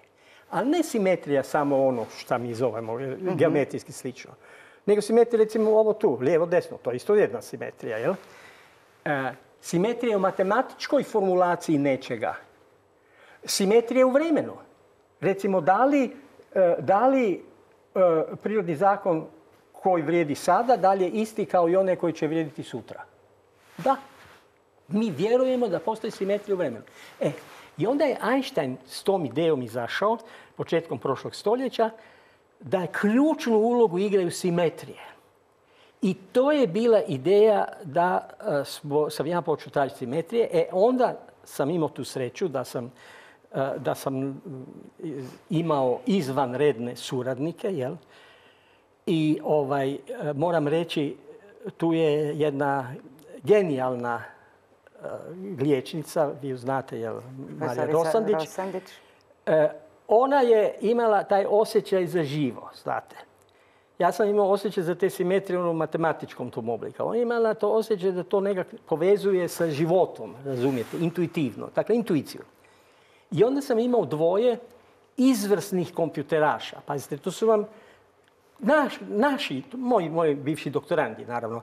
Ali ne simetrija samo ono što mi zovemo geometrijski slično. Nego simetrija, recimo ovo tu, lijevo-desno, to je isto jedna simetrija, jel? Simetrija u matematičkoj formulaciji nečega. Simetrija u vremenu. Recimo, da li prirodni zakon koji vrijedi sada, da li je isti kao i onaj koji će vrijediti sutra? Da. Mi vjerujemo da postoji simetrija u vremenu. I onda je Einstein s tom idejom izašao, početkom prošlog stoljeća, da je ključnu ulogu igraju simetrije. I to je bila ideja da sam ja počeo tražiti simetrije. Onda sam imao tu sreću da sam imao izvanredne suradnike. Jel? I moram reći, tu je jedna genijalna liječnica, vi ju znate, jel? Marija Rosandić. Ona je imala taj osjećaj za živo, znate. Ja sam imao osjećaj za te simetrije u matematičkom tom obliku. Ona je imala to osjećaj da to nekako povezuje sa životom, razumijete, intuitivno, dakle intuiciju. I onda sam imao dvoje izvrsnih kompjuteraša. Pazite, to su vam naši, moji bivši doktorandi, naravno,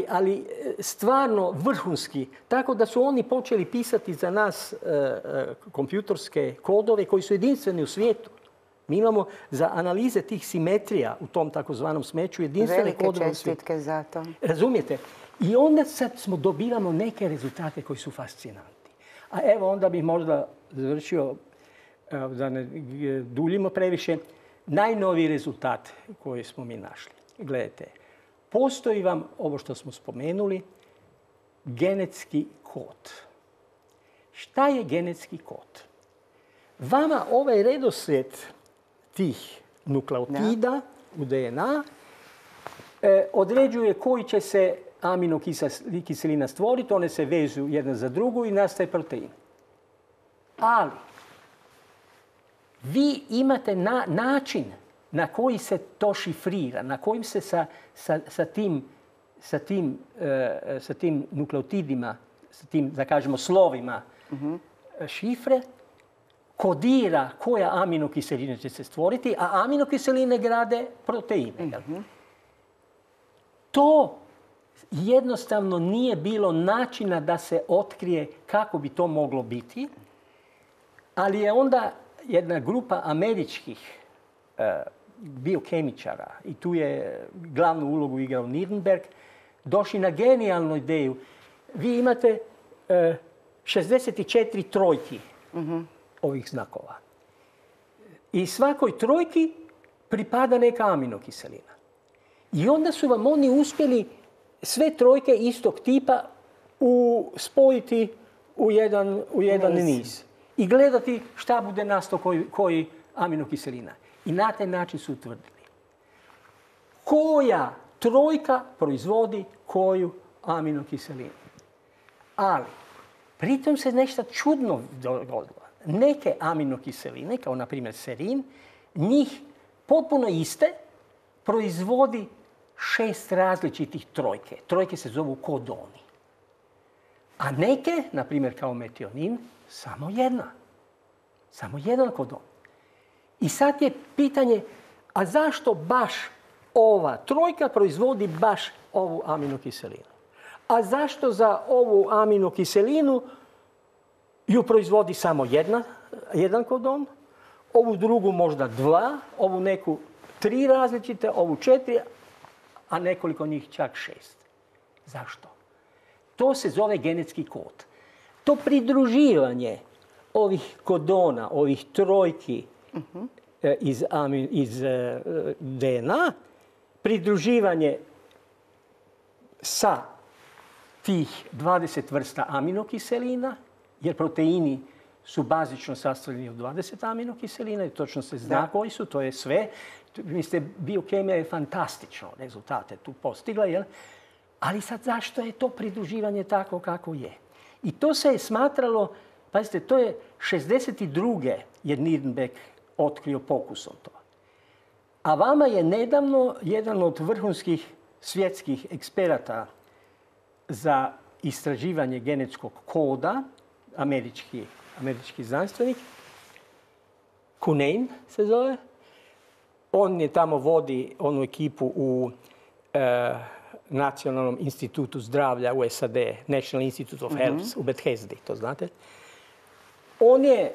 ali stvarno vrhunski. Tako da su oni počeli pisati za nas kompjutorske kodove koji su jedinstveni u svijetu. Mi imamo za analize tih simetrija u tom takozvanom smeću jedinstvene kodove u svijetu. Velike čestitke za to. Razumijete? I onda sad dobivamo neke rezultate koji su fascinantni. A evo onda bih možda završio, da ne duljimo previše, najnoviji rezultat koji smo mi našli. Gledajte, postoji vam, ovo što smo spomenuli, genetski kod. Šta je genetski kod? Vama ovaj redoslijed tih nukleotida u DNA određuje koji će se aminokiselina stvoriti, one se vežu jedna za drugu i nastaje protein. Ali vi imate način na koji se to šifrira, na kojim se sa tim nukleotidima, sa tim, da kažemo, slovima šifre, kodira koja aminokiselina će se stvoriti, a aminokiseline grade proteine. To jednostavno nije bilo načina da se otkrije kako bi to moglo biti, ali je onda jedna grupa američkih biokemičara, i tu je glavnu ulogu igrao Nirenberg, došli na genijalnu ideju. Vi imate 64 trojki ovih znakova. I svakoj trojki pripada neka aminokiselina. I onda su vam oni uspjeli sve trojke istog tipa spojiti u jedan niz. I gledati šta bude nastao koji aminokiselina. I na taj način su utvrdili koja trojka proizvodi koju aminokiselinu. Ali, pritom se nešto čudno dogodilo. Neke aminokiseline, kao na primjer serin, njih potpuno iste proizvodi 6 različitih trojke. Trojke se zovu kodoni. A neke, na primjer kao metionin, samo jedna. Samo jedan kodon. I sad je pitanje, a zašto baš ova trojka proizvodi baš ovu aminokiselinu? A zašto za ovu aminokiselinu ju proizvodi samo jedan kodon, ovu drugu možda 2, ovu neku 3 različite, ovu 4, a nekoliko njih čak 6. Zašto? To se zove genetski kod. To pridruživanje ovih kodona, ovih trojki iz DNA, pridruživanje sa tih 20 vrsta aminokiselina, jer proteini su bazično sastavljeni od 20 aminokiselina i točno se zna koji su, to je sve. Mislite, biokemija je fantastično rezultate tu postigla, jel? Ali sad zašto je to pridruživanje tako kako je? I to se je smatralo, pazite, to je 62. je Nirenberg otkrio pokusom to. A vama je nedavno jedan od vrhunskih svjetskih eksperata za istraživanje genetskog koda, američki znanstvenik, Cunnane se zove. On je tamo vodi onu ekipu u Nacionalnom institutu zdravlja u SAD, National Institute of Health u Bethesdi, to znate. On je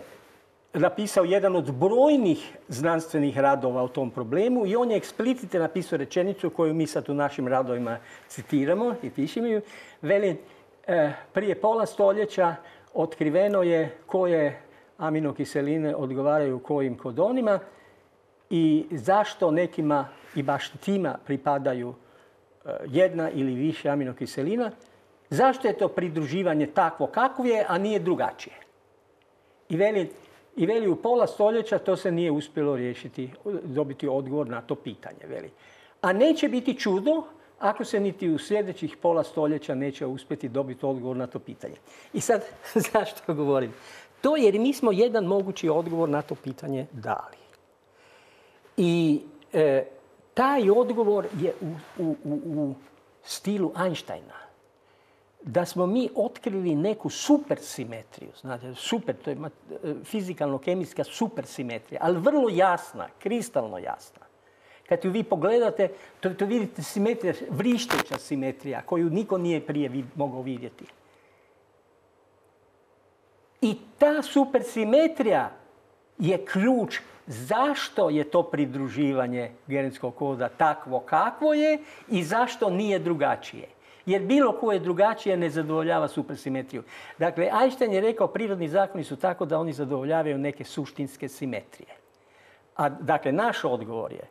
napisao jedan od brojnih znanstvenih radova o tom problemu i on je eksplicite napisao rečenicu koju mi sad u našim radovima citiramo i pišemo ju. Veli, prije pola stoljeća otkriveno je koje aminokiseline odgovaraju kojim kodonima i zašto nekima i baš tima pripadaju jedna ili više aminokiselina. Zašto je to pridruživanje takvo kakvo je, a nije drugačije? I veli u pola stoljeća to se nije uspjelo riješiti, dobiti odgovor na to pitanje. Veli. A neće biti čudo ako se niti u sljedećih pola stoljeća neće uspjeti dobiti odgovor na to pitanje. I sad, zašto govorim? To jer mi smo jedan mogući odgovor na to pitanje dali. I taj odgovor je u stilu Einsteina. Da smo mi otkrili neku supersimetriju, znate, to je fizikalno-kemijska supersimetrija, ali vrlo jasna, kristalno jasna. Kad ju vi pogledate, to vidite simetrija, vrišteća simetrija, koju niko nije prije mogao vidjeti. I ta supersimetrija je ključ zašto je to pridruživanje genetskog koda takvo kakvo je i zašto nije drugačije. Jer bilo koje drugačije ne zadovoljava supersimetriju. Dakle, Einstein je rekao prirodni zakoni su tako da oni zadovoljavaju neke suštinske simetrije. A dakle, naš odgovor je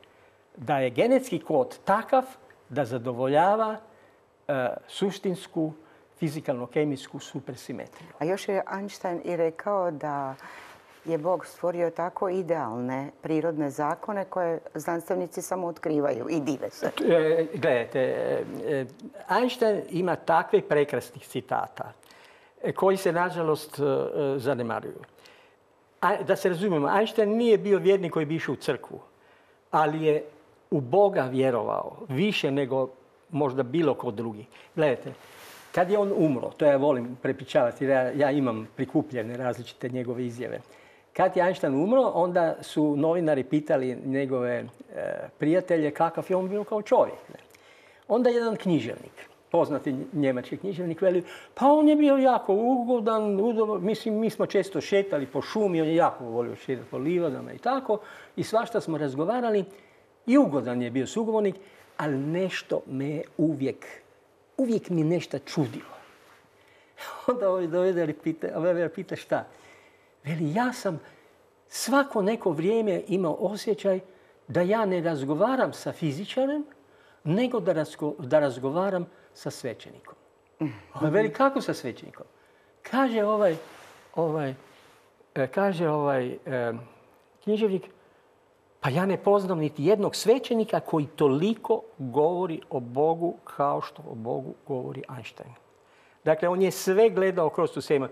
da je genetski kod takav da zadovoljava suštinsku fizikalno-kemijsku supersimetriju. A još je Einstein i rekao da je Bog stvorio tako idealne prirodne zakone koje znanstvenici samo otkrivaju i dive se. Gledajte, Einstein ima takve prekrasnih citata koji se, nažalost, zanemaruju. Da se razumijemo, Einstein nije bio vjernik koji bi išao u crkvu, ali je u Boga vjerovao više nego možda bilo ko drugi. Gledajte, kad je on umro, to ja volim prepričavati jer ja imam prikupljene različite njegove izjave. Kad je Einstein umro, onda su novinari pitali njegove prijatelje kakav je on bio kao čovjek. Onda jedan književnik poznati njemački književnik, veli, pa on je bio jako ugodan, mislim, mi smo često šetali po šumi, on je jako volio šetati po livadama i tako, i svašta smo razgovarali, i ugodan je bio sugovornik, ali nešto me uvijek mi nešto čudilo. Onda ovaj dovede pita šta? Veli, ja sam svako neko vrijeme imao osjećaj da ja ne razgovaram sa fizičarem, nego da razgovaram sa svećenikom. Veli, kako sa svećenikom? Kaže književnik, pa ja ne poznam niti jednog svećenika koji toliko govori o Bogu kao što o Bogu govori Einstein. Dakle, on je sve gledao kroz tu semu.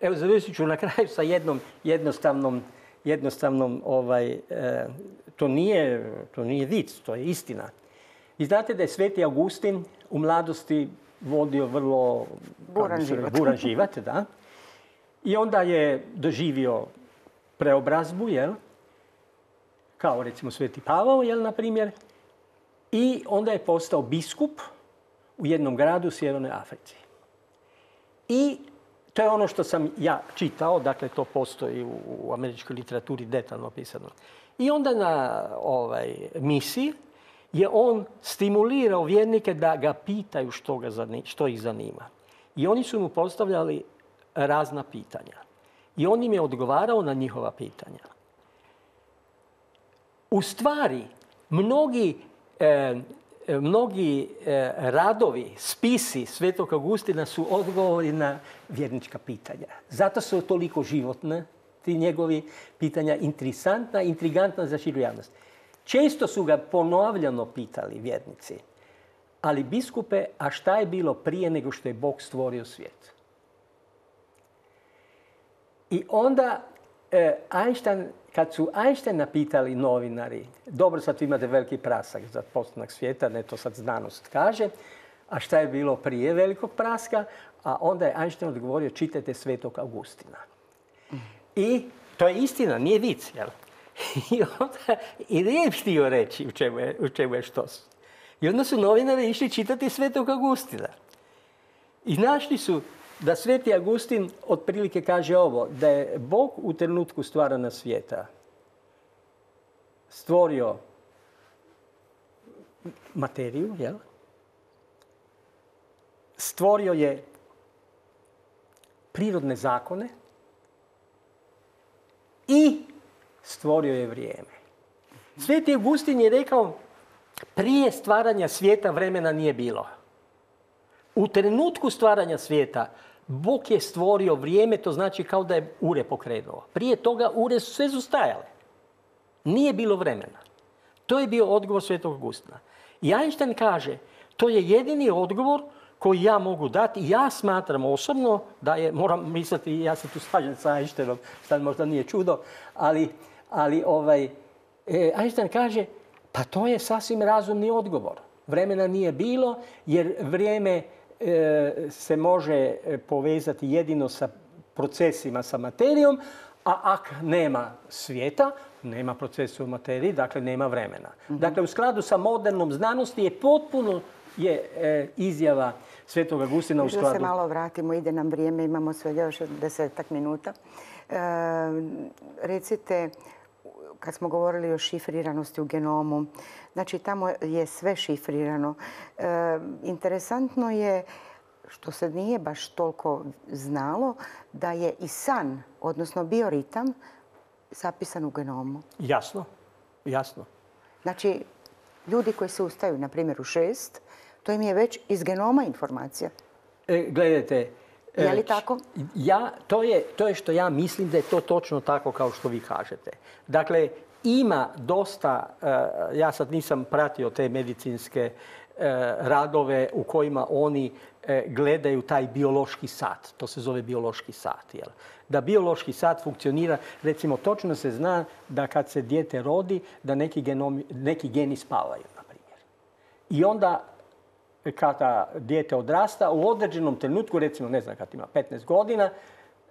Evo, završit ću na kraju sa jednom jednostavnom to nije vic, to je istina. I znate da je Sveti Augustin u mladosti vodio vrlo buran život, da. I onda je doživio preobrazbu, jel? Kao recimo Sveti Pavao, jel, na primjer. I onda je postao biskup u jednom gradu u Sjevernoj Africi. I to je ono što sam ja čitao, dakle to postoji u američkoj literaturi detaljno opisano. I onda na misiji je on stimulirao vjernike da ga pitaju što ih zanima. I oni su mu postavljali razna pitanja. I on im je odgovarao na njihova pitanja. U stvari, mnogi radovi, spisi Svetog Augustina su odgovori na vjernička pitanja. Zato su toliko životne, ti njegovi pitanja, interesantna, intrigantna za širu javnost. Često su ga ponovljeno pitali vjernici, ali biskupe, a šta je bilo prije nego što je Bog stvorio svijet? I onda kad su Einsteina pitali novinari, dobro, sad imate veliki prasak za postanak svijeta, ne to sad znanost kaže, a šta je bilo prije velikog praska? A onda je Einstein odgovorio, čitajte Svetog Augustina. I to je istina, nije vic, jel? I nije htio reći u čemu je štos. I onda su novinari išli čitati Svetog Augustina. I našli su da Sveti Augustin otprilike kaže ovo, da je Bog u trenutku stvaranja svijeta stvorio materiju, jel? Stvorio je prirodne zakone i stvorio je vrijeme. Sveti Augustin je rekao, prije stvaranja svijeta vremena nije bilo. U trenutku stvaranja svijeta Bog je stvorio vrijeme, to znači kao da je ure pokrenuo. Prije toga ure su sve sustajale. Nije bilo vremena. To je bio odgovor Svetog Augustina. I Einstein kaže, to je jedini odgovor koji ja mogu dati. Ja smatram osobno da je, moram misliti, ja se tu slažem sa Einsteinom, sad možda nije čudo, ali Einstein kaže, pa to je sasvim razumni odgovor. Vremena nije bilo jer vrijeme se može povezati jedino sa procesima, sa materijom, a ako nema svijeta, nema procesa u materiji, dakle nema vremena. Dakle, u skladu sa modernom znanosti je potpuno izjava Svetog Augustina u skladu. Da se malo vratimo, ide nam vrijeme, imamo sve još 10 minuta. Recite, kad smo govorili o šifriranosti u genomu, znači tamo je sve šifrirano. Interesantno je, što se nije baš toliko znalo, da je i san, odnosno bioritam, zapisan u genomu. Jasno, jasno. Znači, ljudi koji se ustaju, na primjer, u 6, to im je već iz genoma informacija. Gledajte. Je li tako? To je što ja mislim da je to točno tako kao što vi kažete. Dakle, ima dosta, ja sad nisam pratio te medicinske radove u kojima oni gledaju taj biološki sat. To se zove biološki sat. Jel? Da biološki sat funkcionira, recimo točno se zna da kad se dijete rodi, da neki geni spavaju, na primjer. I onda kada dijete odrasta, u određenom trenutku, recimo ne znam kad ima 15 godina,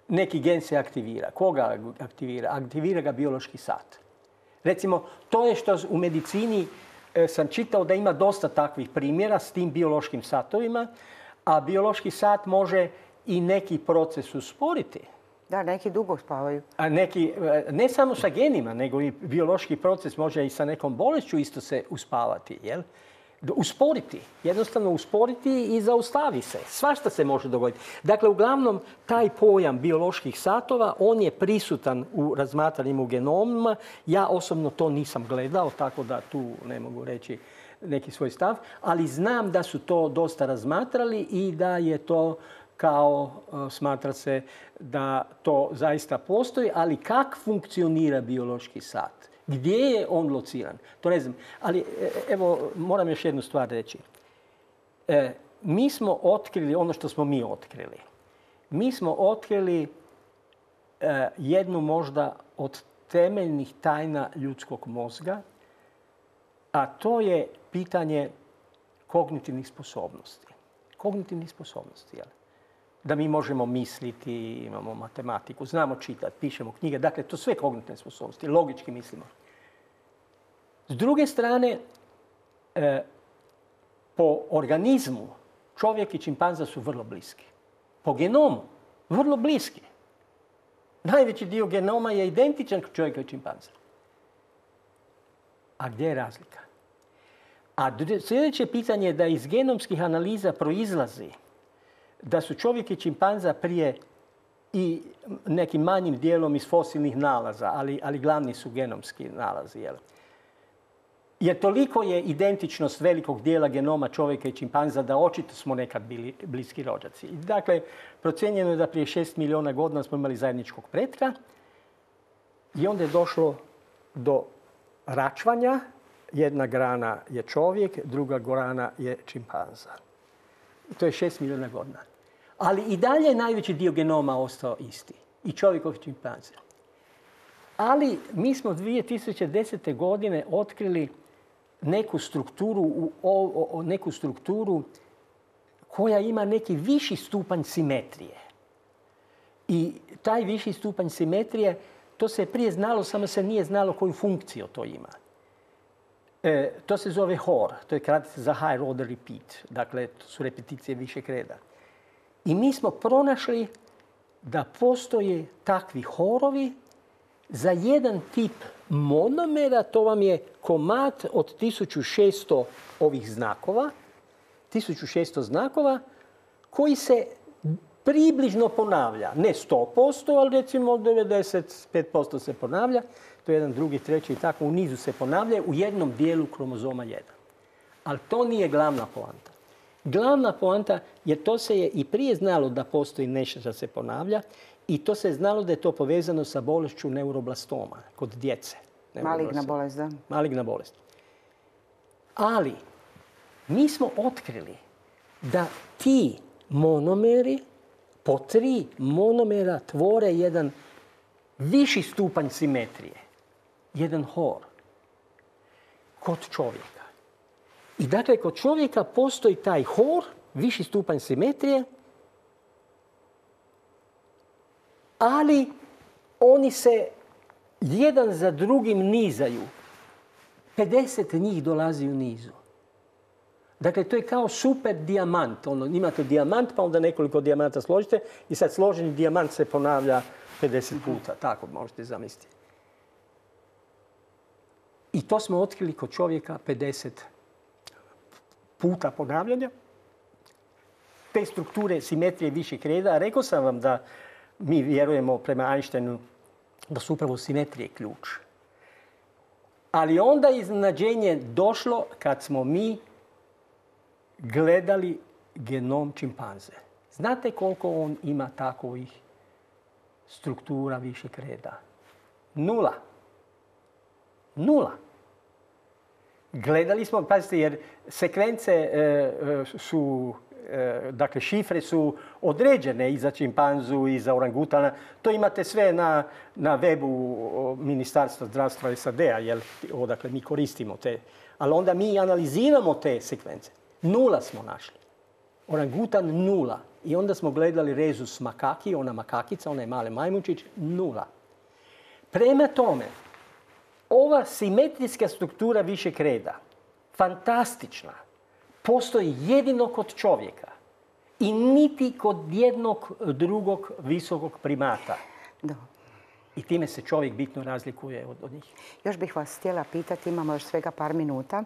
neki gen se aktivira. Koga aktivira? Aktivira ga biološki sat. Recimo, to je što u medicini sam čitao da ima dosta takvih primjera s tim biološkim satovima, a biološki sat može i neki proces usporiti. Da, neki dugo spavaju. A neki, ne samo sa genima, nego i biološki proces može i sa nekom bolešću isto se uspavati. Jel? Usporiti. Jednostavno usporiti i zaustavi se. Svašta se može dogoditi. Dakle, uglavnom, taj pojam bioloških satova, on je prisutan u razmatranjima u genomima. Ja osobno to nisam gledao, tako da tu ne mogu reći neki svoj stav. Ali znam da su to dosta razmatrali i da je to kao smatra se da to zaista postoji, ali kako funkcionira biološki sat? Gdje je on lociran? To ne znam. Ali evo, moram još jednu stvar reći. Mi smo otkrili ono što smo mi otkrili. Mi smo otkrili jednu možda od temeljnih tajna ljudskog mozga, a to je pitanje kognitivnih sposobnosti. Kognitivnih sposobnosti, jel? Da mi možemo misliti, imamo matematiku, znamo čitati, pišemo knjige. Dakle, to sve kognitivne sposobnosti, logički mislimo. S druge strane, po organizmu čovjek i čimpanza su vrlo bliski. Po genomu vrlo bliski. Najveći dio genoma je identičan kod čovjeka i čimpanza. A gdje je razlika? A sljedeće pitanje je da iz genomskih analiza proizlazi da su čovjek i čimpanza prije i nekim manjim dijelom iz fosilnih nalaza, ali glavni su genomski nalazi. Jer toliko je identičnost velikog dijela genoma čovjeka i čimpanza da očito smo nekad bili bliski rođaci. Dakle, procjenjeno je da prije 6 milijuna godina smo imali zajedničkog pretka i onda je došlo do račvanja. Jedna grana je čovjek, druga grana je čimpanza. To je 6 milijuna godina. Ali i dalje je najveći dio genoma ostao isti. I čovjekov i čimpanze. Ali mi smo 2010. godine otkrili neku strukturu koja ima neki viši stupanj simetrije. I taj viši stupanj simetrije, to se je prije znalo, samo se nije znalo koju funkciju to ima. To se zove HOR, to je kratica za High Order Repeat. Dakle, to su repeticije višeg reda. I mi smo pronašli da postoje takvi horovi za jedan tip monomera, to vam je komad od 1600 ovih znakova, 1600 znakova, koji se približno ponavlja. Ne 100%, ali recimo 95% se ponavlja. To je jedan, drugi, treći i tako u nizu se ponavlja u jednom dijelu kromozoma 1. Ali to nije glavna poanta. Glavna poanta je to se je i prije znalo da postoji nešto što se ponavlja i to se je znalo da je to povezano sa bolešću neuroblastoma kod djece. Maligna bolest, da. Maligna bolest. Ali mi smo otkrili da ti monomeri po 3 monomera tvore jedan viši stupanj simetrije. Jedan HOR. Kod čovjeka. I dakle, kod čovjeka postoji taj HOR, viši stupanj simetrije, ali oni se jedan za drugim nizaju. 50 njih dolazi u nizu. Dakle, to je kao super dijamant. Imate dijamant, pa onda nekoliko dijamanta složite i sad složeni dijamant se ponavlja 50 puta. Tako možete zamisliti. I to smo otkrili kod čovjeka 50 puta ponavljanja. Te strukture simetrije višeg reda. Rekao sam vam da mi vjerujemo prema Einsteinu da su upravo simetrije ključ. Ali onda iznenađenje došlo kad smo mi gledali genom čimpanze. Znate koliko on ima takovih struktura višeg reda? 0. 0. Gledali smo, pazite, jer sekvence su, dakle šifre su određene i za čimpanzu i za orangutana. To imate sve na webu Ministarstva zdravstva SAD-a, jer odakle mi koristimo te. Ali onda mi analiziramo te sekvence. 0 smo našli. Orangutan 0. I onda smo gledali rezus makaki, ona makakica, onaj mali majmunčić, 0. Prema tome, ova simetrijska struktura višeg reda fantastična, postoji jedino kod čovjeka i niti kod jednog drugog visokog primata. Da. I time se čovjek bitno razlikuje od njih. Još bih vas htjela pitati, imamo još svega par minuta,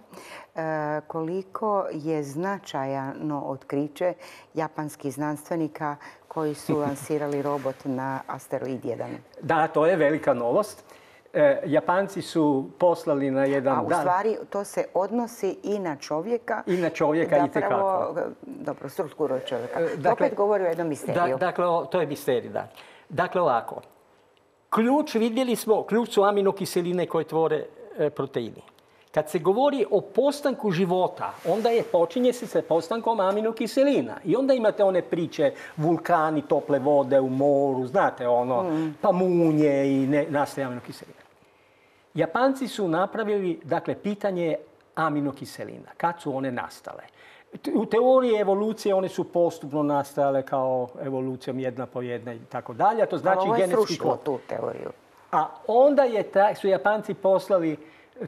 koliko je značajno otkriće japanskih znanstvenika koji su lansirali robot na asteroid 1? Da, to je velika novost. Japanci su poslali na jedan... A u stvari to se odnosi i na čovjeka. I na čovjeka itekako. Dobro, strukturu čovjeka. Opet govori o jednom misteriju. Dakle, to je misterij, da. Dakle, ovako. Ključ, vidjeli smo, ključ su aminokiseline koje tvore proteini. Kad se govori o postanku života, onda počinje se sa postankom aminokiselina. I onda imate one priče, vulkani, tople vode u moru, znate pa munje i nastaje aminokiselina. Japanci su napravili, dakle, pitanje aminokiselina. Kad su one nastale? U teoriji evolucije one su postupno nastajale kao evolucijom jedna po jedna i tako dalje. To znači ovo je genetski srušilo kod. tu teoriju. A onda su Japanci poslali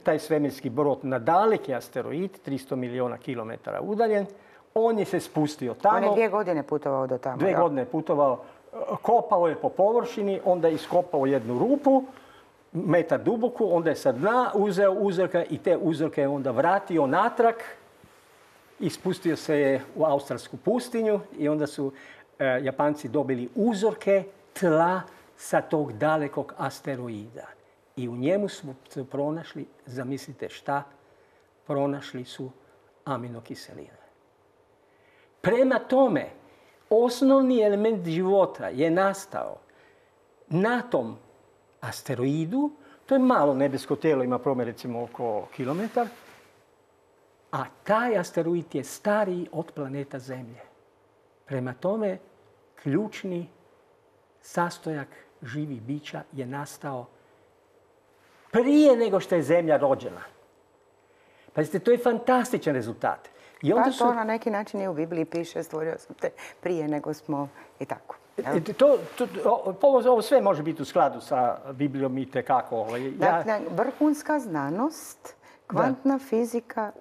taj svemirski brod na daleki asteroid, 300 milijuna kilometara udaljen. On je se spustio tamo. On je 2 godine putovao do tamo. 2 godine je putovao. Kopao je po površini, onda je iskopao jednu rupu, metar duboku, onda je sa dna uzeo uzorke i te uzorke je onda vratio natrag. I spustio se je u australsku pustinju i onda su Japanci dobili uzorke tla sa tog dalekog asteroida. I u njemu su pronašli, zamislite šta, pronašli su aminokiseline. Prema tome, osnovni element života je nastao na tom asteroidu. To je malo nebesko tijelo, ima promjer recimo oko kilometar. A taj asteroid je stariji od planeta Zemlje. Prema tome, ključni sastojak živih bića je nastao prije nego što je Zemlja rođena. Pazite, to je fantastičan rezultat. I onda to na neki način i u Bibliji piše, stvorio sam te prije nego smo i tako. Ovo sve može biti u skladu sa Biblijom i tekako. Dakle, vrhunska znanost, kvantna fizika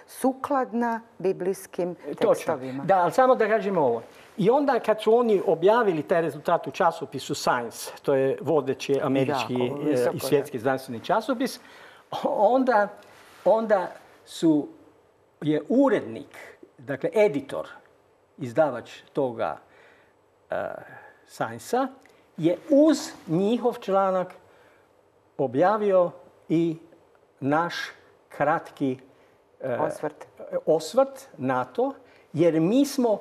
sukladna biblijskim tekstovima. Da, ali samo da kažemo ovo. I onda kad su oni objavili taj rezultat u časopisu Science, to je vodeći američki i svjetski znanstveni časopis, onda je urednik, dakle editor, izdavač toga Science-a, je uz njihov članak objavio i naš kratki osvrt na to, jer mi smo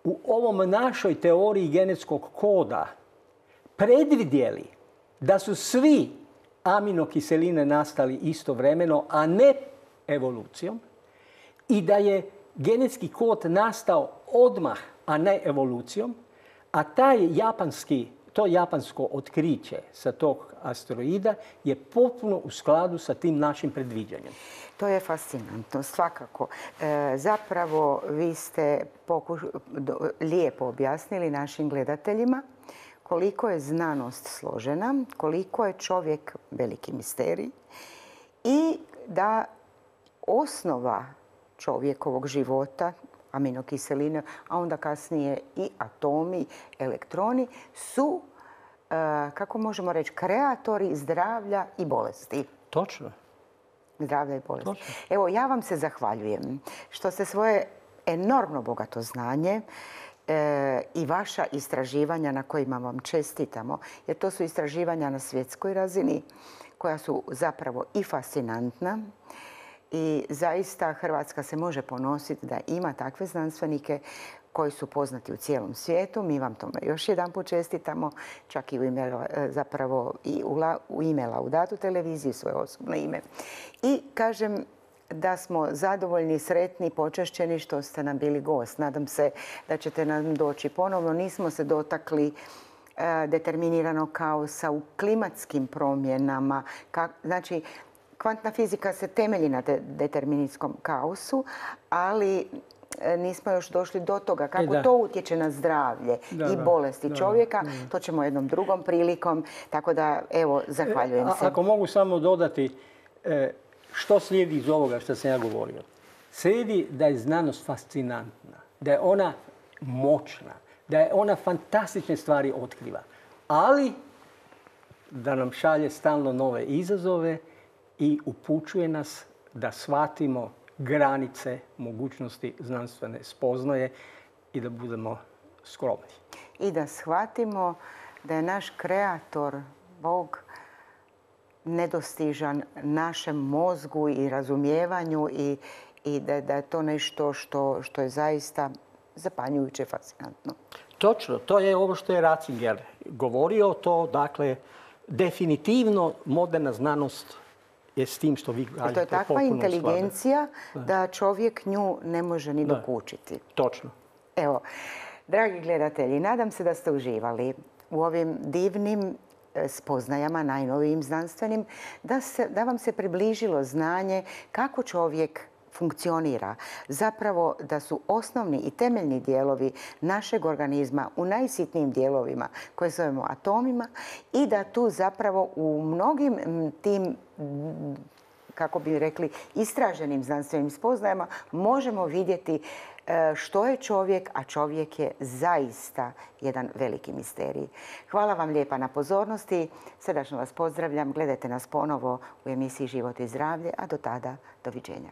u ovom našoj teoriji genetskog koda predvidjeli da su svi aminokiseline nastali istovremeno, a ne evolucijom, i da je genetski kod nastao odmah, a ne evolucijom, a to japansko otkriće sa tog asteroida je potpuno u skladu sa tim našim predviđanjem. To je fascinantno, svakako. Zapravo, vi ste lijepo objasnili našim gledateljima koliko je znanost složena, koliko je čovjek veliki misterij i da osnova čovjekovog života, aminokiseline, a onda kasnije i atomi, elektroni, su, kako možemo reći, kreatori zdravlja i bolesti. Točno. Zdravlja i bolesti. Evo, ja vam se zahvaljujem što ste svoje enormno bogato znanje i vaša istraživanja na kojima vam čestitamo, jer to su istraživanja na svjetskoj razini koja su zapravo i fascinantna. I zaista Hrvatska se može ponositi da ima takve znanstvenike koji su poznati u cijelom svijetu. Mi vam tome još jedanput čestitamo, čak i u ime Laudatu televiziji, svoje osobno ime. I kažem da smo zadovoljni, sretni, počašćeni što ste nam bili gost. Nadam se da ćete nam doći ponovno. Nismo se dotakli determiniranog kaosa u klimatskim promjenama. Znači, kvantna fizika se temelji na deterministskom kaosu, ali nismo još došli do toga kako to utječe na zdravlje i bolesti čovjeka. To ćemo jednom drugom prilikom. Tako da, evo, zahvaljujem se. Ako mogu samo dodati, što slijedi iz ovoga što sam ja govorio? Slijedi da je znanost fascinantna, da je ona moćna, da je ona fantastične stvari otkriva, ali da nam šalje stalno nove izazove i upućuje nas da shvatimo granice mogućnosti znanstvene spoznaje i da budemo skromni. I da shvatimo da je naš kreator, Bog, nedostižan našem mozgu i razumijevanju i da je to nešto što je zaista zapanjujuće, fascinantno. Točno, to je ovo što je Ratzinger govorio. To, dakle, definitivno moderna znanost je s tim što vi kažete. To je takva inteligencija da čovjek nju ne može ni dokučiti. Točno. Evo, dragi gledatelji, nadam se da ste uživali u ovim divnim spoznajama, najnovijim znanstvenim, da vam se približilo znanje kako čovjek funkcionira. Zapravo da su osnovni i temeljni dijelovi našeg organizma u najsitnijim dijelovima koje zovemo atomima i da tu zapravo u mnogim tim, kako bi rekli, istraženim znanstvenim spoznajama možemo vidjeti što je čovjek, a čovjek je zaista jedan veliki misterij. Hvala vam lijepa na pozornosti. Srdačno vas pozdravljam. Gledajte nas ponovo u emisiji Život i zdravlje, a do tada doviđenja.